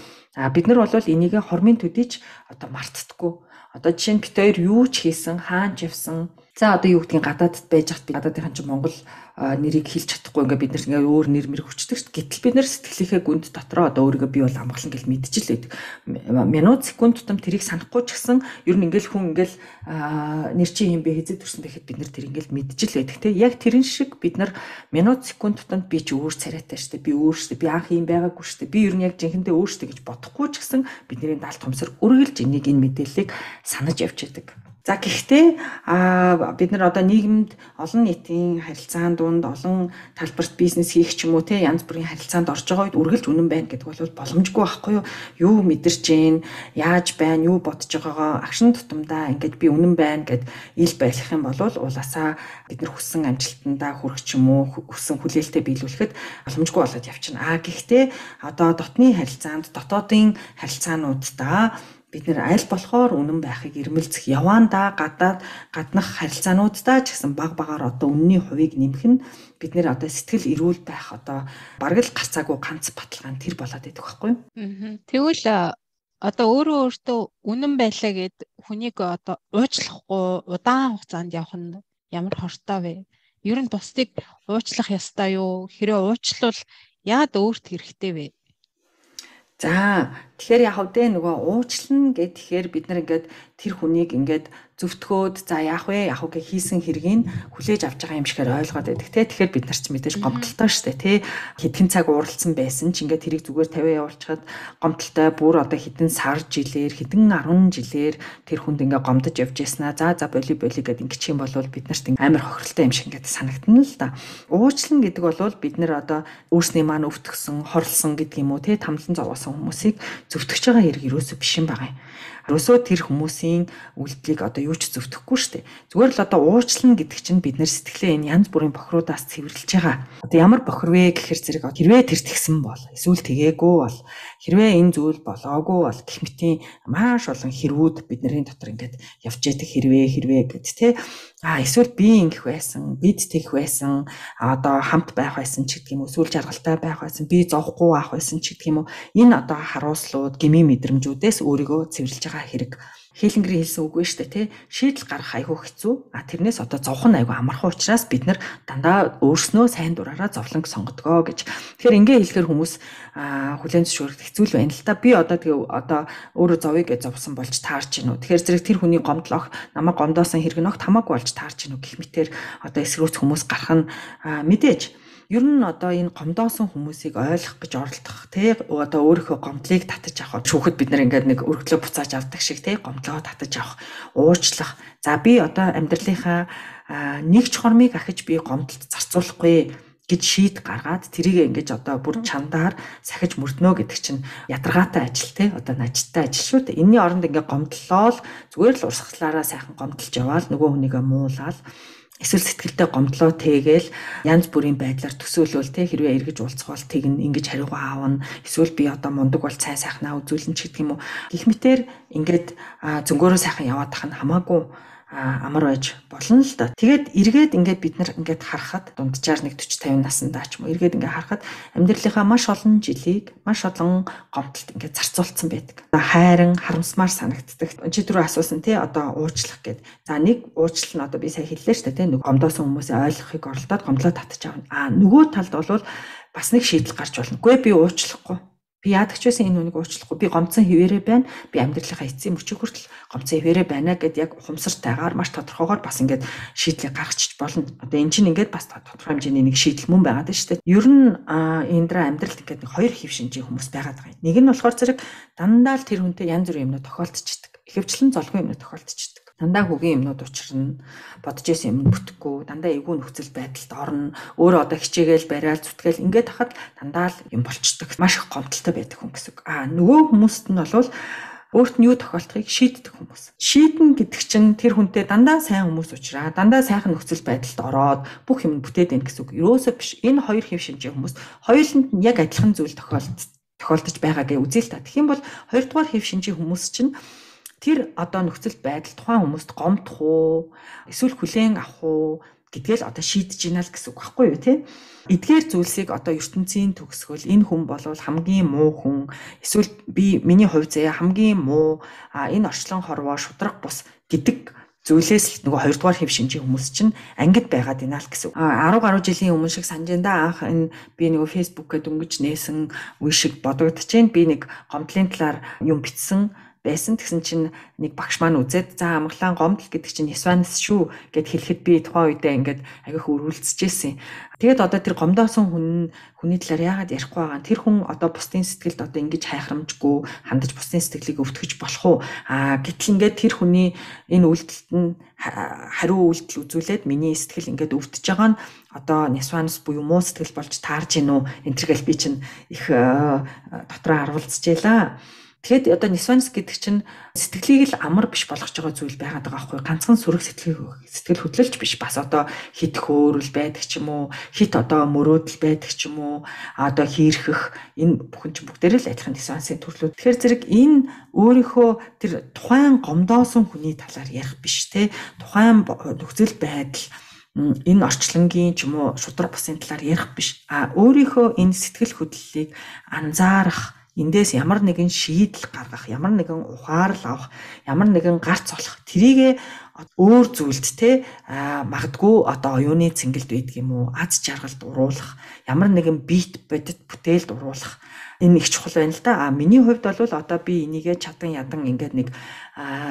Бид нар бол энийг хормын төдийч одоо мартдаггүй. Одоо жишээ нь бит хоёр юу ч хийсэн, хаанч явсан. За одоо юу гэдгийг гадаадд байж хат би гадаадынхан ч Монгол нэрийг хэлж чадахгүй ингээ бид нар ингээ өөр нэр мэр хүчдэг шүү дээ. Гэтэл бид нар сэтгэлийнхээ гүнд дотроо одоо өөрийгөө би бол амгалан гэл мэдчихлээ. Минут секунд тутам тэрийг санахгүй ч гэсэн ер нь ингээл хүн ингээл нэр чи юм бэ хэзээ төрсөн бэ гэхэд бид нар тэр ингээл мэдчихлээ гэх те. Яг тэрэн шиг бид нар минут секунд тутамд би ч өөр царайтай шүү дээ. Би өөр шүү дээ. Би анх юм байгаагүй шүү дээ. Би ер нь яг жинхэнэдээ өөр шүү дээ гэж бодохгүй ч гэсэн бидний даалт томсор үргэлж энийг энэ мэдээллийг санаж явж байдаг. За гэхдээ бид нар одоо нийгэмд олон нийтийн харилцаан дунд олон талбарт бизнес хийх ч юм уу те янз бүрийн харилцаанд орж байгаа үед үргэлж үнэн байна гэдэг бол боломжгүй байхгүй юу? Юу мэдэрч гин, яаж байна, юу бодож байгаагаа агшин тутамдаа ингээд би үнэн байна гэд ил байлгах юм бол уулаасаа бид нар хүссэн амжилтандаа хүрэх ч юм уу хүссэн хүлээлтэд биелүүлэхэд боломжгүй болоод явчихна. Гэхдээ одоо дотны харилцаанд, дотоодын харилцаануудаа бид нэр аль болохоор үнэн байхыг ирмэлцэх яваандаа гаднах харилцаануудаа ч гэсэн багаар одоо үнний хувийг нэмэх нь бид нэр одоо сэтгэл эрүүл байх одоо бараг л гарцаагүй ганц баталгаа нь тэр болоод байдаг байхгүй юу? Тэгвэл одоо өөртөө үнэн байлаа гэд хүнийг одоо уучлахгүй удаан хугацаанд явах нь ямар хортой вэ? Ер нь бусдыг уучлах ёстой юу? Хэрэв уучлвал яад өөрт хэрэгтэй вэ? За тэгэхээр яг үдэ нөгөө уучлна гэхээр бид нар ингээд тэр хүнийг ингээд зөвтгөөд за яах вэ гэ хийсэн хэргийг хүлээж авч байгаа юм шигээр ойлгоод байдаг те. Тэгэхээр бид нар ч мэдээж гомдолтой штэ те. Хэдхэн цаг ууралсан байсан ч ингээд тэрийг зүгээр тавиа явуулчихад гомдолтой бүр одоо хэдэн сар жилээр хэдэн 10 жилээр тэр хүнд ингээд гомдож явж яснаа за боли гэд ингээд юм бол бид нарт амар хохиролтой юм шиг ингээд санагдана л да. Уучлна гэдэг бол бид нар одоо өөрсний маань өвтгсөн хорлсон гэдэг юм уу те тамлан зовоосон хүмүүсийг зөвтгөж байгаа хэрэг юусоо биш юм байгаа юм. Ерөөсөө тэр хүмүүсийн үйлдэлийг одоо юу ч зөвтгөхгүй шүү дээ. Зүгээр л одоо уучлна гэдэг чинь бид нэр сэтгэлээ энэ янз бүрийн бохируудаас цэвэрлж байгаа. Одоо ямар бохир вэ гэхээр зэрэг хэрвээ тэр тэгсэн бол эсвэл тэгээгүй бол хэрвээ энэ зүйл болоогүй бол гэх мэтийн маш олон хэрвүүд бидний дотор ингээд явж яадаг хэрвээ гэд тэ. Эсвэл би ингэх байсан, бид тэгэх байсан, одоо хамт байх байсан ч гэдэг юм уу, эсвэл жаргалтай байх байсан, би зовхгүй байх байсан ч гэдэг юм уу. Энэ одоо харуулслууд, гмийн мэдрэмжүүдээс өөрийгөө цэвэрлж байгаа хэрэг. Хейлингрийн хэлсэн үг вэ шүү дээ, тий. Шийдэл гаргах айгүй хэцүү. Тэрнээс одоо зовхон айгүй амархан учраас бид нар дандаа өөрснөө сайн дураараа зовлонг сонгодгоо гэж. Тэгэхээр ингээ хэлэхээр хүмүүс хүлээн зөвшөөрөх хэцүү л байна л та. Би одоо өөрөө зовъё гэж зовсон болж таарч гинүү. Тэгэхээр зэрэг тэр хүний гомдлох, намайг гомдоосон хэрэг нөх тамаагүй болж таарч гинүү гэх мэтээр одоо эсрүүц хүмүүс гарах нь мэдээж. Ер нь одоо энэ гомдоосон хүмүүсийг ойлгох гэж оролдох тий одоо өөрийнхөө гомдлыг татаж авах. Шүүхэд бид нар ингээд нэг өргөлөө буцааж авдаг шиг тий гомдлоо татаж авах, уучлах. За би одоо амьдралынхаа нэг чухамыг ахиж би гомдолд зарцуулахгүй гэж шийд гаргаад тэрийг ингэж одоо бүр чандаар сахиж мөрднө гэдэг чинь ядаргаатай ажил те одоо нажиттай ажил шүү дээ. Энийний оронд ингээ гомдлоо л зүгээр л урсгалаараа сайхан гомдолж яваал нөгөө хүнийгээ муулаад эсвэл сэтгэлдээ гомдлоо тэгээл янз бүрийн байдлаар төсөөлвөл те хэрвээ эргэж уулзвал тэгнэ ингэж хариугаа аавна эсвэл би одоо мундаг бол цай сайхнаа үзүүлнэ ч гэдэг юм уу гэх мэтэр ингээд зөнгөөрөө сайхан яваад тах нь хамаагүй амар байж болно л да. Тэгээд эргээд ингээд бид нар ингээд харахад дунджаар нэг 40 50 наснда ч юм уу эргээд ингээд харахад амьдралынхаа маш олон жилийг маш олон гомдолд ингээд зарцуулсан байдаг. Хайран харамсмаар санагддаг. Чи түрүү асуусан тий одоо уучлах гэд. За нэг уучлал нь одоо би сая хэллээ шүү дээ тий нэг гомдоосон хүмүүсээ ойлгохыг оролдоод гомдлоо татчих авна. Нөгөө талд бол бас нэг шийдэл гарч болно. Үгүй би уучлахгүй. Би яадаг ч байсан энэ үнийг уучлахгүй. Би гомцсон хിവэрэ байна. Би амьдралынхаа эцсийн мөчийг хүртэл гомцсон хിവэрэ байна гэд яг ухамсартайгаар маш тодорхойгоор бас ингээд шийдлийг гаргачих болно. Одоо эн чинь ингээд бас тодорхой хэмжээний нэг шийдэл мөн байгаад шүү дээ. Ер нь эндра амьдралд ингээд нэг хоёр хэв шинжийн хүмүүс байгаад байгаа юм. Нэг нь болохоор зэрэг дандаа л тэр хүнтэй янз бүрийн юмнууд тохиолдчихдаг. Ихэвчлэн золгүй юмнууд тохиолдчихдаг. Дандаа хөгийн юмнууд учрна, бодож исэн юм бүтэхгүй, дандаа эвгүй нөхцөл байдалд орно, өөрөө одоо хичээгээл бариал зүтгээл ингээд хахад дандаа л юм болчдөг. Маш их гомдолтой байдаг хүн гэсэн үг. Нөгөө хүмүүст нь бол өөрт нь юу тохиолдохыг шийддэг хүмүүс. Шийдэн гэдэг чинь тэр хүнтэй дандаа сайн хүмүүс уулзраа, дандаа сайхан нөхцөл байдалд ороод бүх юм бүтээд байна гэсэн үг. Ерөөсөө биш. Энэ хоёр хэв шинжийн хүмүүс хоёуланд нь яг адилхан зүйл тохиолдож байгаа гэж үзье л та. Тэгэх юм бол хоёрдугаар хэв шинжийн хүмүүс чинь тэр одоо нөхцөл байдал тухайн хүмүүст гомдох уу эсвэл хүлээн авах уу гэдгээл одоо шийдэж гинэ л гэсэн үг байхгүй юу те. Эдгээр зүйлсийг одоо ертөнцийн төгсгөл энэ хүн болвол хамгийн муу хүн эсвэл миний хувь заяа хамгийн муу энэ орчлон хорвоо шудраг бус гэдэг зүйлээс л нөгөө хоёрдугаар хэв шинжийн хүмүүс чинь ангид байгаад байна л гэсэн. 10 гаруй жилийн өмнө шиг санаж энэ анх энэ би нөгөө фэйсбүүкээ дөнгөж нээсэн үе шиг бодогдчихээн. Би нэг гомдлын талаар юм бичсэн байсан. Тэгсэн чинь нэг багш маань үзээд за амглаан гомдол гэдэг чинь Нисванс шүү гэд хэлэхэд би тухайн үедээ ингээд агих өрүүлцэжсэн. Тэгээд одоо тэр гомдоосон хүний талаар яагаад ярихгүй байгаа. Тэр хүн одоо бусдын сэтгэлд одоо ингэж хайхрамжгүй хандаж бусдын сэтгэлийг өвтгөж болох уу? Гэтэл ингээд тэр хүний энэ үйлдэлт нь хариу үйлдэл үзүүлээд миний сэтгэл ингээд өвдөж байгаа нь одоо Нисванс буюу муу сэтгэл болж таарж гинүү. Энтергээл би чинь их дотроо харуулцжээ. Тэгэхэд одоо Нисванс гэдэг чинь сэтгэлийг л амар биш болгож байгаа зүйл байгаад байгаа байхгүй. Ганцхан сүрэг сэтгэл хөдлөлч биш. Бас одоо хит хөөрөл байдаг ч юм уу, хит одоо мөрөөдөл байдаг ч юм уу, одоо хийрхэх энэ бүхэн чинь бүгдээрээ л адилхан Нисвансын төрлүүд. Тэгэхээр зэрэг энэ өөрийнхөө тэр тухайн гомдоосон хүний талаар ярих биш те. Тухайн нөхцөл байдал энэ орчлонгийн ч юм уу шудраг бусын талаар ярих биш. Өөрийнхөө энэ сэтгэл хөдлөлийг анзаарах, эндээс ямар нэгэн шийдэл гаргах, ямар нэгэн ухаарл авах, ямар нэгэн гарц олох, тэрийгэ өөр зүйлд те магадгүй одоо оюуны цэнгэлд байдаг юм уу, аз жаргалд уруулах, ямар нэгэн бит бодит бүтээлд уруулах Энэ их чухал байна л да. Миний хувьд бол одоо би энийгээ чадан ядан ингээд нэг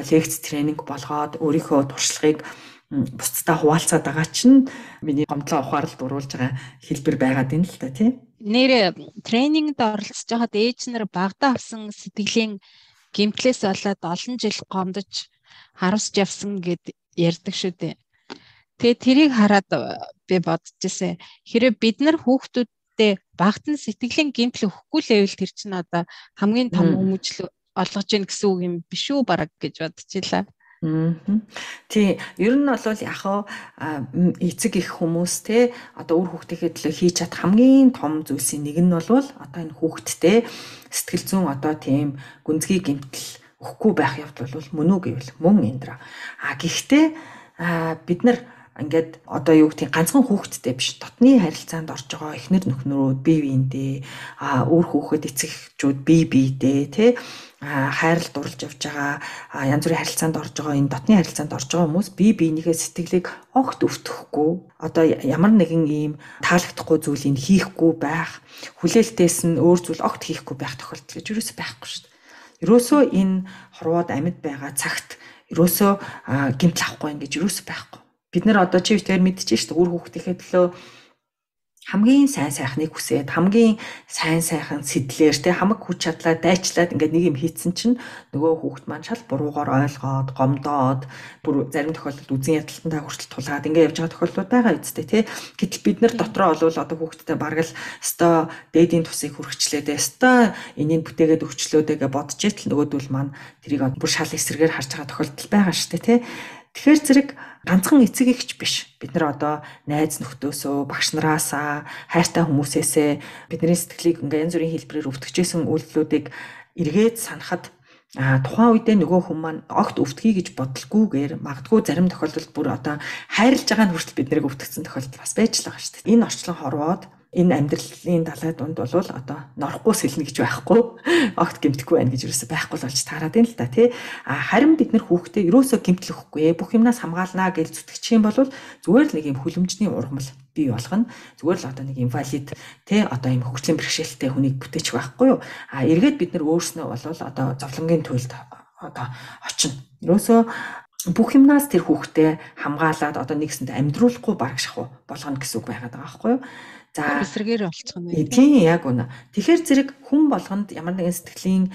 лекц тренинг болгоод өөрийнхөө туршлагыг бусдаа хуваалцаад байгаа чинь миний гомдлоо ухааралд оруулж байгаа хэлбэр байгаад байна л да тий. Нэр тренингд оролцож байхад ээж нар багада авсан сэтгэлийн гэмтлээс болоод олон жил гомдож харамсж явсан гэд ярьдаг шүү дээ. Тэгээ тэрийг хараад би бодож ирсэн. Хэрэв бид нар хүүхдүүдтэй багт нь сэтгэлийн гэмтэл өгөхгүй л байвал тэр чинь одоо хамгийн том хүмүүжил олгож ийн гэсэн үг юм биш үү бараг гэж бодчихлаа. Тий, ер нь бол яг эцэг их хүмүүс те одоо үр хүүхдийнхээ төлөө хийж чад хамгийн том зүйлсийн нэг нь бол одоо энэ хүүхдтэй сэтгэл зүйн одоо тийм гүнзгий гэмтэл өгөхгүй байх явдал бол мөн үү гэвэл мөн эндра. Гэхдээ бид нар ингээд одоо юу гэх тийм ганцхан хүүхэдтэй биш дотны харилцаанд орж байгаа эхнэр нөхнөрөө бие биендээ өөр хүүхэд эцэг эхчүүд бие биедээ тий хайрлалд дурлж явж байгаа янз бүрийн харилцаанд орж байгаа энэ дотны харилцаанд орж байгаа хүмүүс бие биенийхээ сэтгэлийг огт өвтөхгүй одоо ямар нэгэн ийм таалагдахгүй зүйлийг хийхгүй байх хүлээлтээс нь өөр зүйл огт хийхгүй байх тохиолдол гэж юусоо байхгүй шүү дээ. Юусоо энэ хорвоод амьд байгаа цагт юусоо гэмтэл авахгүй ингэж юусоо байхгүй. Бид нар одоо чи битээр мэдчихэж шүү дээ үр хүүхдийнхээ төлөө хамгийн сайн сайхныг хүсээд хамгийн сайн сайхан сэтлэр тэ хамаг хүч чадлаа дайчлаад ингээд нэг юм хийцэн чинь нөгөө хүүхд маань шал буруугаар ойлгоод гомдоод бүр зарим тохиолдолд үзэн ядалтандаа хүртэл тулгаад ингээд явж байгаа тохиолдлууд байгаа үсттэй тэ гэтэл бид нар дотроо олвол одоо хүүхдтэй бараг л өстой дээдийн тусыг хүрхчлээд өстой энийг бүтээгээд өгчлөөдөө гэж бодож итэл нөгөөдөл маань тэрийг бүр шал эсрэгээр харж байгаа тохиолдол байгаа шүү дээ тэ. Тэгэхээр зэрэг ганцхан эцэг эгч биш. Бид нар одоо найз нөхдөөсөө, багш нараасаа, хайртай хүмүүсээсээ бидний сэтгэлийг ингээ янз бүрийн хэлбэрээр өвтгөжсэн үйлдэлүүдийг эргээд санахад тухайн үедээ нөгөө хүн маань огт өвтгий гэж бодлогүйгээр магадгүй зарим тохиолдолд бүр одоо хайрлаж байгаа нь хүртэл бид нарыг өвтгцэн тохиолдол бас байж л байгаа шүү дээ. Энэ орчлон хорвоод энэ амьдралын далай дунд бол одоо норохгүй сэлнэ гэж байхгүй огт гэмтэхгүй байна гэж юусоо байхгүй л болж таарад байна л да тий. Харин бид нар хүүхдээ юусоо гэмтлэхгүй бүх юмнаас хамгаалнаа гэж зүтгэж юм бол зүгээр л нэг юм хүлэмжний ургамал бий болгоно. Зүгээр л одоо нэг инвалид тий одоо юм хөгжлийн бэрхшээлтэй хүнийг бүтээчих байхгүй юу. Эргээд бид нар өөрснөө бол одоо зовлонгийн туйлд одоо очино. Юусоо бүх юмнаас тэр хүүхдээ хамгаалаад одоо нэгсэнд амьдруулахгүй бараг шахуу болгоно гэсэн үг байгаад байгаа байхгүй юу. За эсрэгээр болчих нь. Тийм яг үнэ. Тэгэхээр зэрэг хүн болгонд ямар нэгэн сэтгэлийн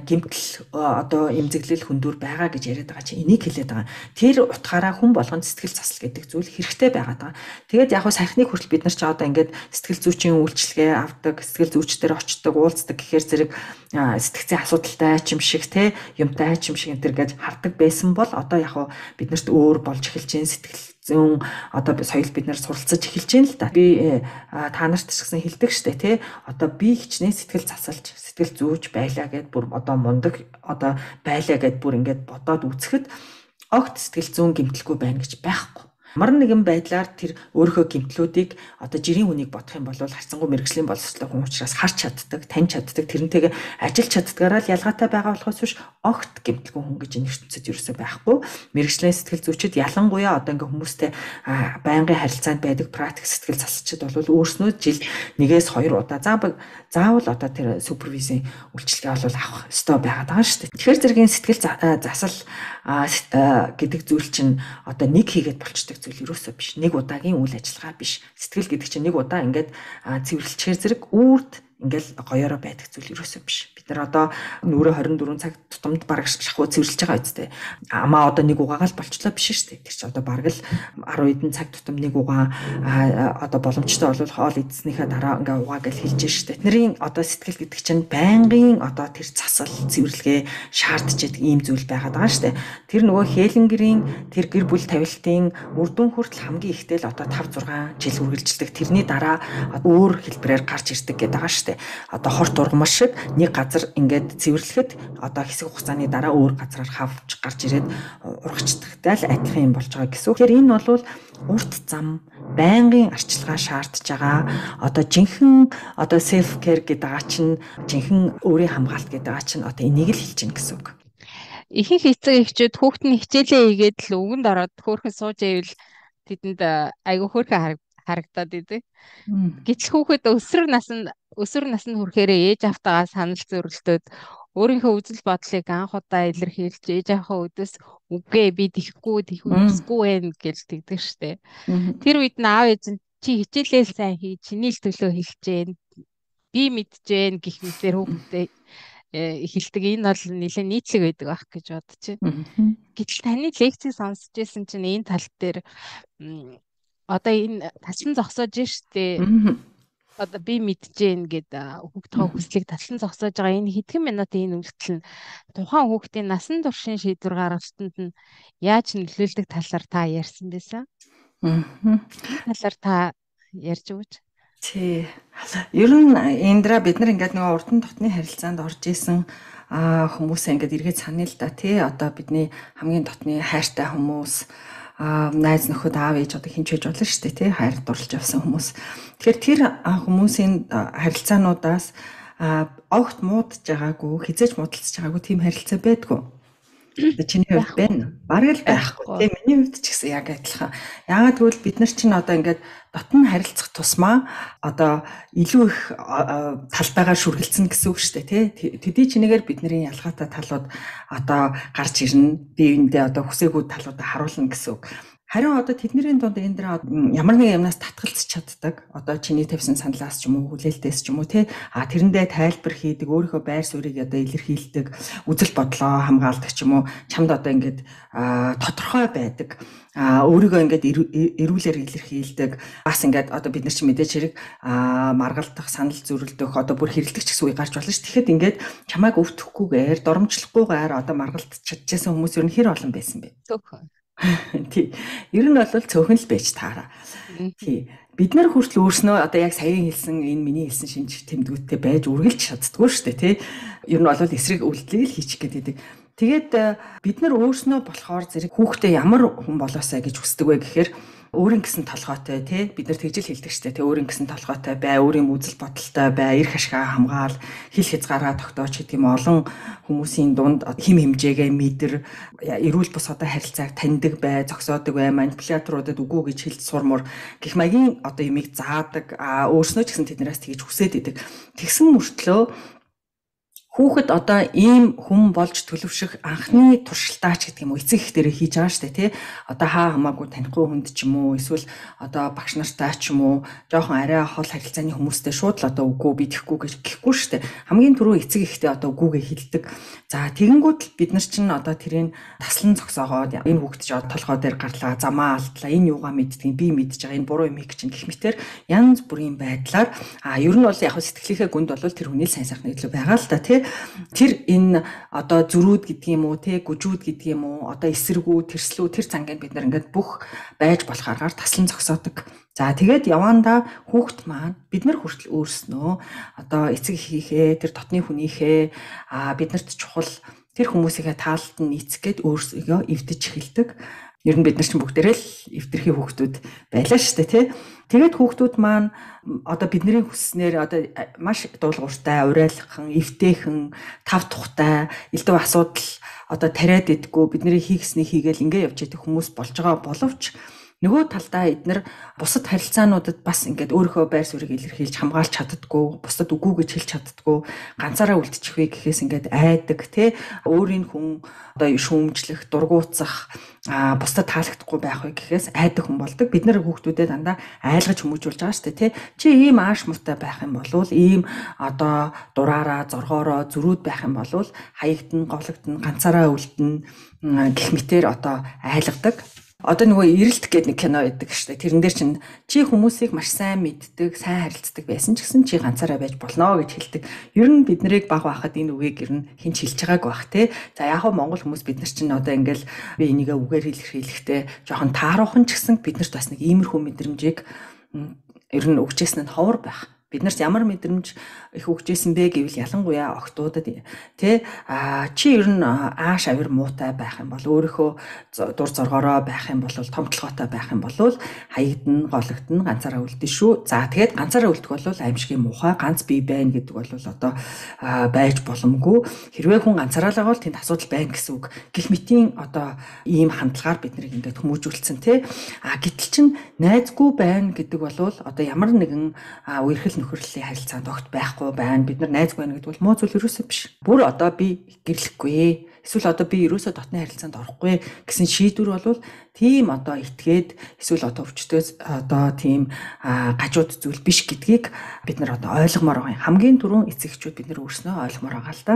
гэмтэл одоо эмзэглэл хөндөөр байгаа гэж яриад байгаа чинь энийг хэлээд байгаа. Тэр утгаараа хүн болгонд сэтгэл засал гэдэг зүйл хэрэгтэй байгаад байгаа. Тэгээд яг хөө сайхныг хүртэл бид нар ч одоо ингээд сэтгэл зүйчийн үйлчилгээ авдаг, сэтгэл зүйчдэр очдог, уулздаг гэхээр зэрэг сэтгцийн асуудалтай ч юм шиг те юмтай ч юм шиг энэ төр гэж хардаг байсан бол одоо яг хөө биднэрт өөр болж эхэлж байгаа сэтгэл зүүн одоо соёл бид нар суралцаж эхэлж байна л да. Би та нарт ч гэсэн хэлдэг штэ тий. Одоо би хичнээн сэтгэл засалж, сэтгэл зүйч байлаа гэд бүр одоо мундаг одоо байлаа гэд бүр ингээд бодоод үзэхэд огт сэтгэл зүүн гэмтэлгүй байна гэж байхгүй. Ямар нэгэн байдлаар тэр өөрийнхөө гэмтлүүдийг одоо жирийн хүнийг бодох юм бол харцангуй мэрэгжлийн боловсролын хүн учраас харж чаддаг, таньж чаддаг, тэрнтэйгээ ажиллаж чаддгаараа л ялгаатай байгаа болохоос биш огт гэмтэлгүй хүн гэж энэ ертөнцид ерөөсөй байхгүй. Мэрэгжлийн сэтгэл зүйчид ялангуяа одоо ингээ хүмүүстэй байнгын харилцаанд байдаг практик сэтгэл засалчид бол өөрснөө жилд 1-2 удаа заавал одоо тэр супервизийн үйлчилгээ бол авах ёстой байгаад байгаа шүү дээ. Тэгэхээр зэргийн сэтгэл засал гэдэг зүйл чинь одоо нэг хийгээд болчдөг зүйл юусоо биш. Нэг удаагийн үйл ажиллагаа биш. Сэтгэл гэдэг чинь нэг удаа ингээд цэвэрлэхээр зэрэг үрд ингээл гоёороо байдаг зүйл юусоо биш. Бид нар одоо нүрэ 24 цаг тутамд бараг шахуу цэвэрлэж байгаа үстэй. Амаа одоо нэг угаагаал болчлоо биш шүү дээ. Тэр чинь одоо бараг л 10 хэдэн цаг тутам нэг угаа одоо боломжтой бол хоол идснийхаа дараа ингээ угаа гэж хэлж шүү дээ. Тэдний одоо сэтгэл гэдэг чинь байнгын одоо тэр засал цэвэрлэгээ шаардж байдаг ийм зүйл байгаад байгаа шүү дээ. Тэр нөгөө Хелингерийн тэр гэр бүл тавилтын үр дүн хүртэл хамгийн ихтэй л одоо 5-6 жил үргэлжилдэг. Тэрний дараа өөр хэлбэрээр гарч ирдэг гэдэг байгаа шүү дээ. Одоо хорт ургамал шиг нэг газар ингээд цэвэрлэхэд одоо хэсэг хугацааны дараа өөр газараар хавж гарч ирээд ургачдагтай л адилхан юм болж байгаа гэсэн үг. Тэгэхээр энэ бол урт зам байнгын арчилгаа шаардж байгаа. Одоо жинхэнэ одоо self care гэдэг байгаа чинь жинхэнэ өөрийн хамгаалт гэдэг байгаа чинь одоо энийг л хэлж гин гэсэн үг. Ихэнх эцэг эхчүүд хүүхэд нь хичээлээ хийгээд л өгөнд ороод хөөхөн сууж ивэл тэдэнд айгүй хөөхөн харагдаад идэг. Гэтэл хүүхэд өсвөр наснд хүрэхээр ээж автагаа санал зөрөлтөөд өөрийнхөө үзэл бодлыг анх удаа илэрхийлж ээж авахаа өдөөс үгүй би тийхгүй хүсэхгүй байх гэж тэгдэг штэ. Тэр үед нь аав ээж нь чи хичээлээ сайн хий, чиний л төлөө хэлжээ. Би мэджээ гэх мэтээр хүүхдэд хэлдэг. Энэ бол нэлээд нийтлэг байдаг байх гэж бодож байна. Гэтэл таны лекцийг сонсч байсан чинь энэ тал дээр одоо энэ таслан зогсоож штэ. Одоо би мэджээн гэд хүүхдийн хүслийг таслан зогсоож байгаа энэ хэдхэн минутын энэ үйлдэл нь тухайн хүүхдийн насан туршийн шийдвэр гаргалтанд нь яаж нөлөөлдөг талаар та ярьсан байсан? Талаар та ярьж өгөөч. Тий. Ер нь эндра бид нар ингээд нөгөө урд нь дотны харилцаанд орж исэн хүмүүсээ ингээд эргээд санаа л да тий. Одоо бидний хамгийн дотны хайртай хүмүүс найз нөхөд аав ээж одоо хинч байж болно шүү дээ тий хайр дурлж явсан хүмүүс. Тэгэхээр тэр хүмүүсийн харилцаануудаас огт муудаж байгаагүй, хизээж муудалцж байгаагүй тийм харилцаа байдгүй. Чиний хувьд байна. Бараг л байхгүй тий. Миний хувьд ч гэсэн яг адилхан. Яагаад гэвэл бид нар чинь одоо ингээд дотн харилцах тусмаа одоо илүү их талбайгаар шүргэлцэн гэсэн үг шүү дээ тий. Төдий чинээгээр бидний ялгаатай талууд одоо гарч ирнэ. Биеиндээ одоо хүсээгүй талуудаа харуулна гэсэн үг. Харин одоо тэдний дунд энэ дэр ямар нэг юмнаас татгалзах чаддаг. Одоо чиний тавьсан саналаас ч юм уу, хүлээлтээс ч юм уу тий. Тэрэндээ тайлбар хийдэг, өөрийнхөө байр суурийг одоо илэрхийлдэг, үзэл бодлоо хамгаалдаг ч юм уу. Чамд одоо ингээд тодорхой байдаг. Өөрийгөө ингээд эрүүлэр илэрхийлдэг. Бас ингээд одоо бид нар чи мэдээж хэрэг маргалдах, санал зөрүүлдэх, одоо бүр хэрэлдэх ч гэсэн үе гарч болно ш. Тэгэхэд ингээд чамайг өвтөхгүйгээр, доромжлохгүйгээр одоо маргалдаж чадчихсан хүмүүс ер нь хэр олон байсан бэ? Цөөхөн. Тий. Ер нь бол цөөхөн л байж таараа. Тий. Бид нар хүртэл өөрснөө одоо яг саяхан хэлсэн энэ миний хэлсэн шинж тэмдгүүттэй байж үргэлж чаддгүй шүү дээ тий. Ер нь бол эсрэг үйлдэлийг л хийчих гэдэг. Тэгээд бид нар өөрснөө болохоор зэрэг хүүхдээ ямар хүн болоосаа гэж хүсдэг вэ гэхээр өөрийн гэсэн толгойтой тий бид нар тэгжил хэлдэг штэ тий өөрийн гэсэн толгойтой бай, өөрийн үзэл бодолтой бай, эрх ашгаа хамгаал, хил хязгаараа тогтооч гэдэг юм олон хүмүүсийн дунд хим хэмжээгээ мэдэр, эрүүл бус одоо харилцааг таньдаг бай, зогсоодог бай, манипуляторуудад үгүй гэж хэлж сурмор гэх маягийн одоо юмыг заадаг, өөрснөө ч гэсэн тэднээс тэгж хүсээд идэг. Тэгсэн мөртлөө хүүхэд одоо ийм хүн болж төлөвшөх анхны туршилтаач гэдэг юм уу эцэг их дээрээ хийж байгаа штэ тий. Одоо хаа хамаагүй танихгүй хүнд ч юм уу эсвэл одоо багш нартай ч юм уу жоохон арай хол харилцааны хүмүүстэй шууд л одоо үгүй би тэхгүй гэж гэхгүй штэ. Хамгийн түрүү эцэг ихтэй одоо үгүйгээ хэлдэг. За тэгэнгүүт л бид нар чинь одоо тэрийг таслан зогсоогоод энэ хүүхэд ч толгой дээр гарлаа, замаа алдлаа, энэ юугаа мэддэг, би мэдж байгаа, энэ буруу юм их чинь гэх мэтэр янз бүрийн байдлаар ер нь бол яг сэтгэлийнхээ гүнд бол тэр хүний сайн сайхны илүү байгаа л да тий. Тэр энэ одоо зүрүүд гэдэг юм уу те гүжүүд гэдэг юм уу одоо эсэргүү тэрслүү тэр цангийн бид нар ингээд бүх байж болох аргаар таслан зогсоодог. За тэгээд явандаа хүүхэд маань бид нар хүртэл өөрснөө одоо эцэг эхийнхээ тэр дотны хүнийхээ биднэрт чухал тэр хүмүүсийнхээ таалалд нь нийцэх гээд өөрсдөө эвдэж эхэлдэг. Ер нь бид нар чинь бүгдээрээ л эвдэрхий хүүхдүүд байлаа шүү дээ тий. Тэгээд хүүхдүүд маань одоо бидний хүсснээр одоо маш дуулууртай, урайлхан, эвтэйхэн, тав тухтай, элдв асуудал одоо тариад идэггүй бидний хийгсний хийгээл ингээ явж идэх хүмүүс болж байгаа боловч нөгөө талдаа эднэр бусад харилцаануудад бас ингээд өөрийнхөө байр суурийг илэрхийлж хамгаалж чаддаггүй, бусдад үгүй гэж хэлж чаддаггүй, ганцаараа үлдчих вэ гэхээс ингээд айдаг тий өөрийн хүн одоо шүүмжлэх, дургуутсах, бусдад таалагдахгүй байх вэ гэхээс айдаг хүн болдог. Бид нар хүүхдүүдэд дандаа айлгаж хүмүүжүүлж байгаа шүү дээ тий. Чи ийм ааш муутай байх юм бол ийм одоо дураараа, зоргоороо зүрүүд байх юм бол хаягдана, говлогдно, ганцаараа үлдэнэ гэх мэтэр одоо айлгадаг. Одоо нөгөө эрэлт гэдэг нэг кино байдаг шүү дээ. Тэрэн дээр чинь чи хүмүүсийг маш сайн мэддэг, сайн харилцдаг байсан ч гэсэн чи ганцаараа байж болно гэж хэлдэг. Ер нь бид нарыг баг байхад энэ үгийг ер нь хинч хэлж байгааг байх те. За яг хөө Монгол хүмүүс бид нар чинь одоо ингээл би энийгээ үгээр илэрхийлэхдээ жоохон тааруухан ч гэсэн бид нарт бас нэг иймэрхүү мэдрэмжийг ер нь өгчээсэн нь ховор байх Биднэрт ямар мэдрэмж их өгчээсэн бэ гэвэл ялангуяа охтуудад тий чи ер нь ааш авир муутай байх юм бол өөрийнхөө дур зоргоороо байх юм бол томтлогоотой байх юм бол хаягдна, гологдно, ганцаараа үлдэн шүү. За тэгээд ганцаараа үлдэх бол аимшигын муухай ганц бий байна гэдэг бол одоо байж боломгүй. Хэрвээ хүн ганцаараа л байгаа бол тэнд асуудал байна гэсэн үг. Гэх мэтийн одоо ийм хандлагаар бид нарыг ингээд хүмүүжүүлсэн тий. Гэтэл чин найзгүй байна гэдэг бол одоо ямар нэгэн үерхэл нөхөрлөлийн харилцаанд огт байхгүй байна. Бид нар найзгүй байна гэдэг бол муу зүйл ерөөсөө биш. Бүр одоо би гэрлэхгүй. Эсвэл одоо би ерөөсөө дотны харилцаанд орохгүй гэсэн шийдвэр бол тийм одоо итгээд эсвэл одоо өвчтөөс одоо тийм гажууд зүйл биш гэдгийг бид нар одоо ойлгомоор байгаа юм. Хамгийн түрүүн эцэгчүүд бид нар өөрснөө ойлгомоор байгаа л да.